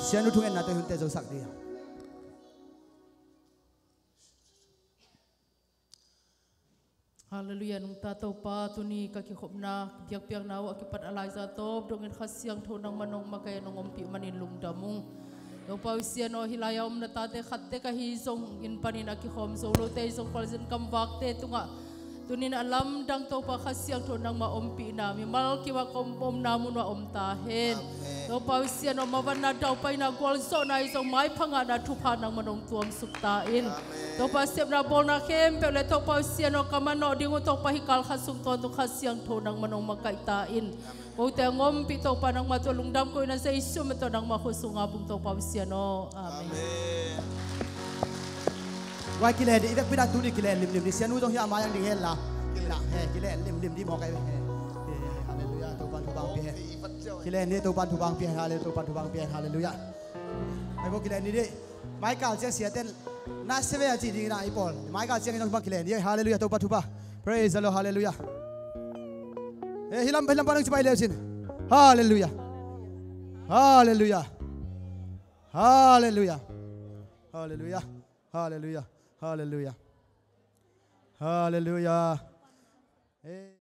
Sianu thungetna tawh i hunte zosak dih. Halleluiah, nungta Topa, tuni ka kikhopna biakpiakna uh a kipat a laiza tawp dongin Kha Siangtho nangman hong makaih a nong ompih manin lungdam ung. Topa uh Sian aw, hih lai-a om na tate khat tek ahi zongin panin a kikhawm zo lote ahi zong khualzin kamvakte tungah Tunin a lamdang Topa Kha Siangtho nangmah ompihna mimal kim a om, omna mun ah om ta hen. Amen. Topa Pasian aw, mavanna, daupaina, gualzawhna ahi zong maipha ngahna thupha nangmah nong tuamsuk ta in. Amen. Topa sepna bawlna khempeuh le Topa Pasian aw, ka manawh ding uh Topa hih kal khat sung tawntung Kha Siangtho nangmah nong makaih ta in. Amen. Kote a ngompih Topa nangmah tawh lungdam koihna Jesu min tawh nangmah khut sunga bung Topa Pasian aw. Amen. Amen. Guai, kilen dih, i vekpi-in ah tuni kilen limlim dih. Sianu zong hiah a mai-ah ding hen la. Kilen, he, kilen limlim dih mawk ai. He, he, he, halleluiah, Topa'n thupha hong pia hen. Kilen dih, Topa'n thupha hong pia hen, halleluiah, Topa'n thupha hong pia hen, halleluiah. Ai bo, kilen dih dih. Mai kal ciang siate'n na seve a ci ding in ah i pawl. Mai kal ciang in zong bang kilen dih, halleluiah, Topa thupha. Praise the Lord, halleluiah. He, hih lam, hih lam pan hong ci pai le uh cin. Halleluiah. Halleluiah. Halleluiah. Halleluiah. Halleluiah. Halleluiah. Halleluiah. He.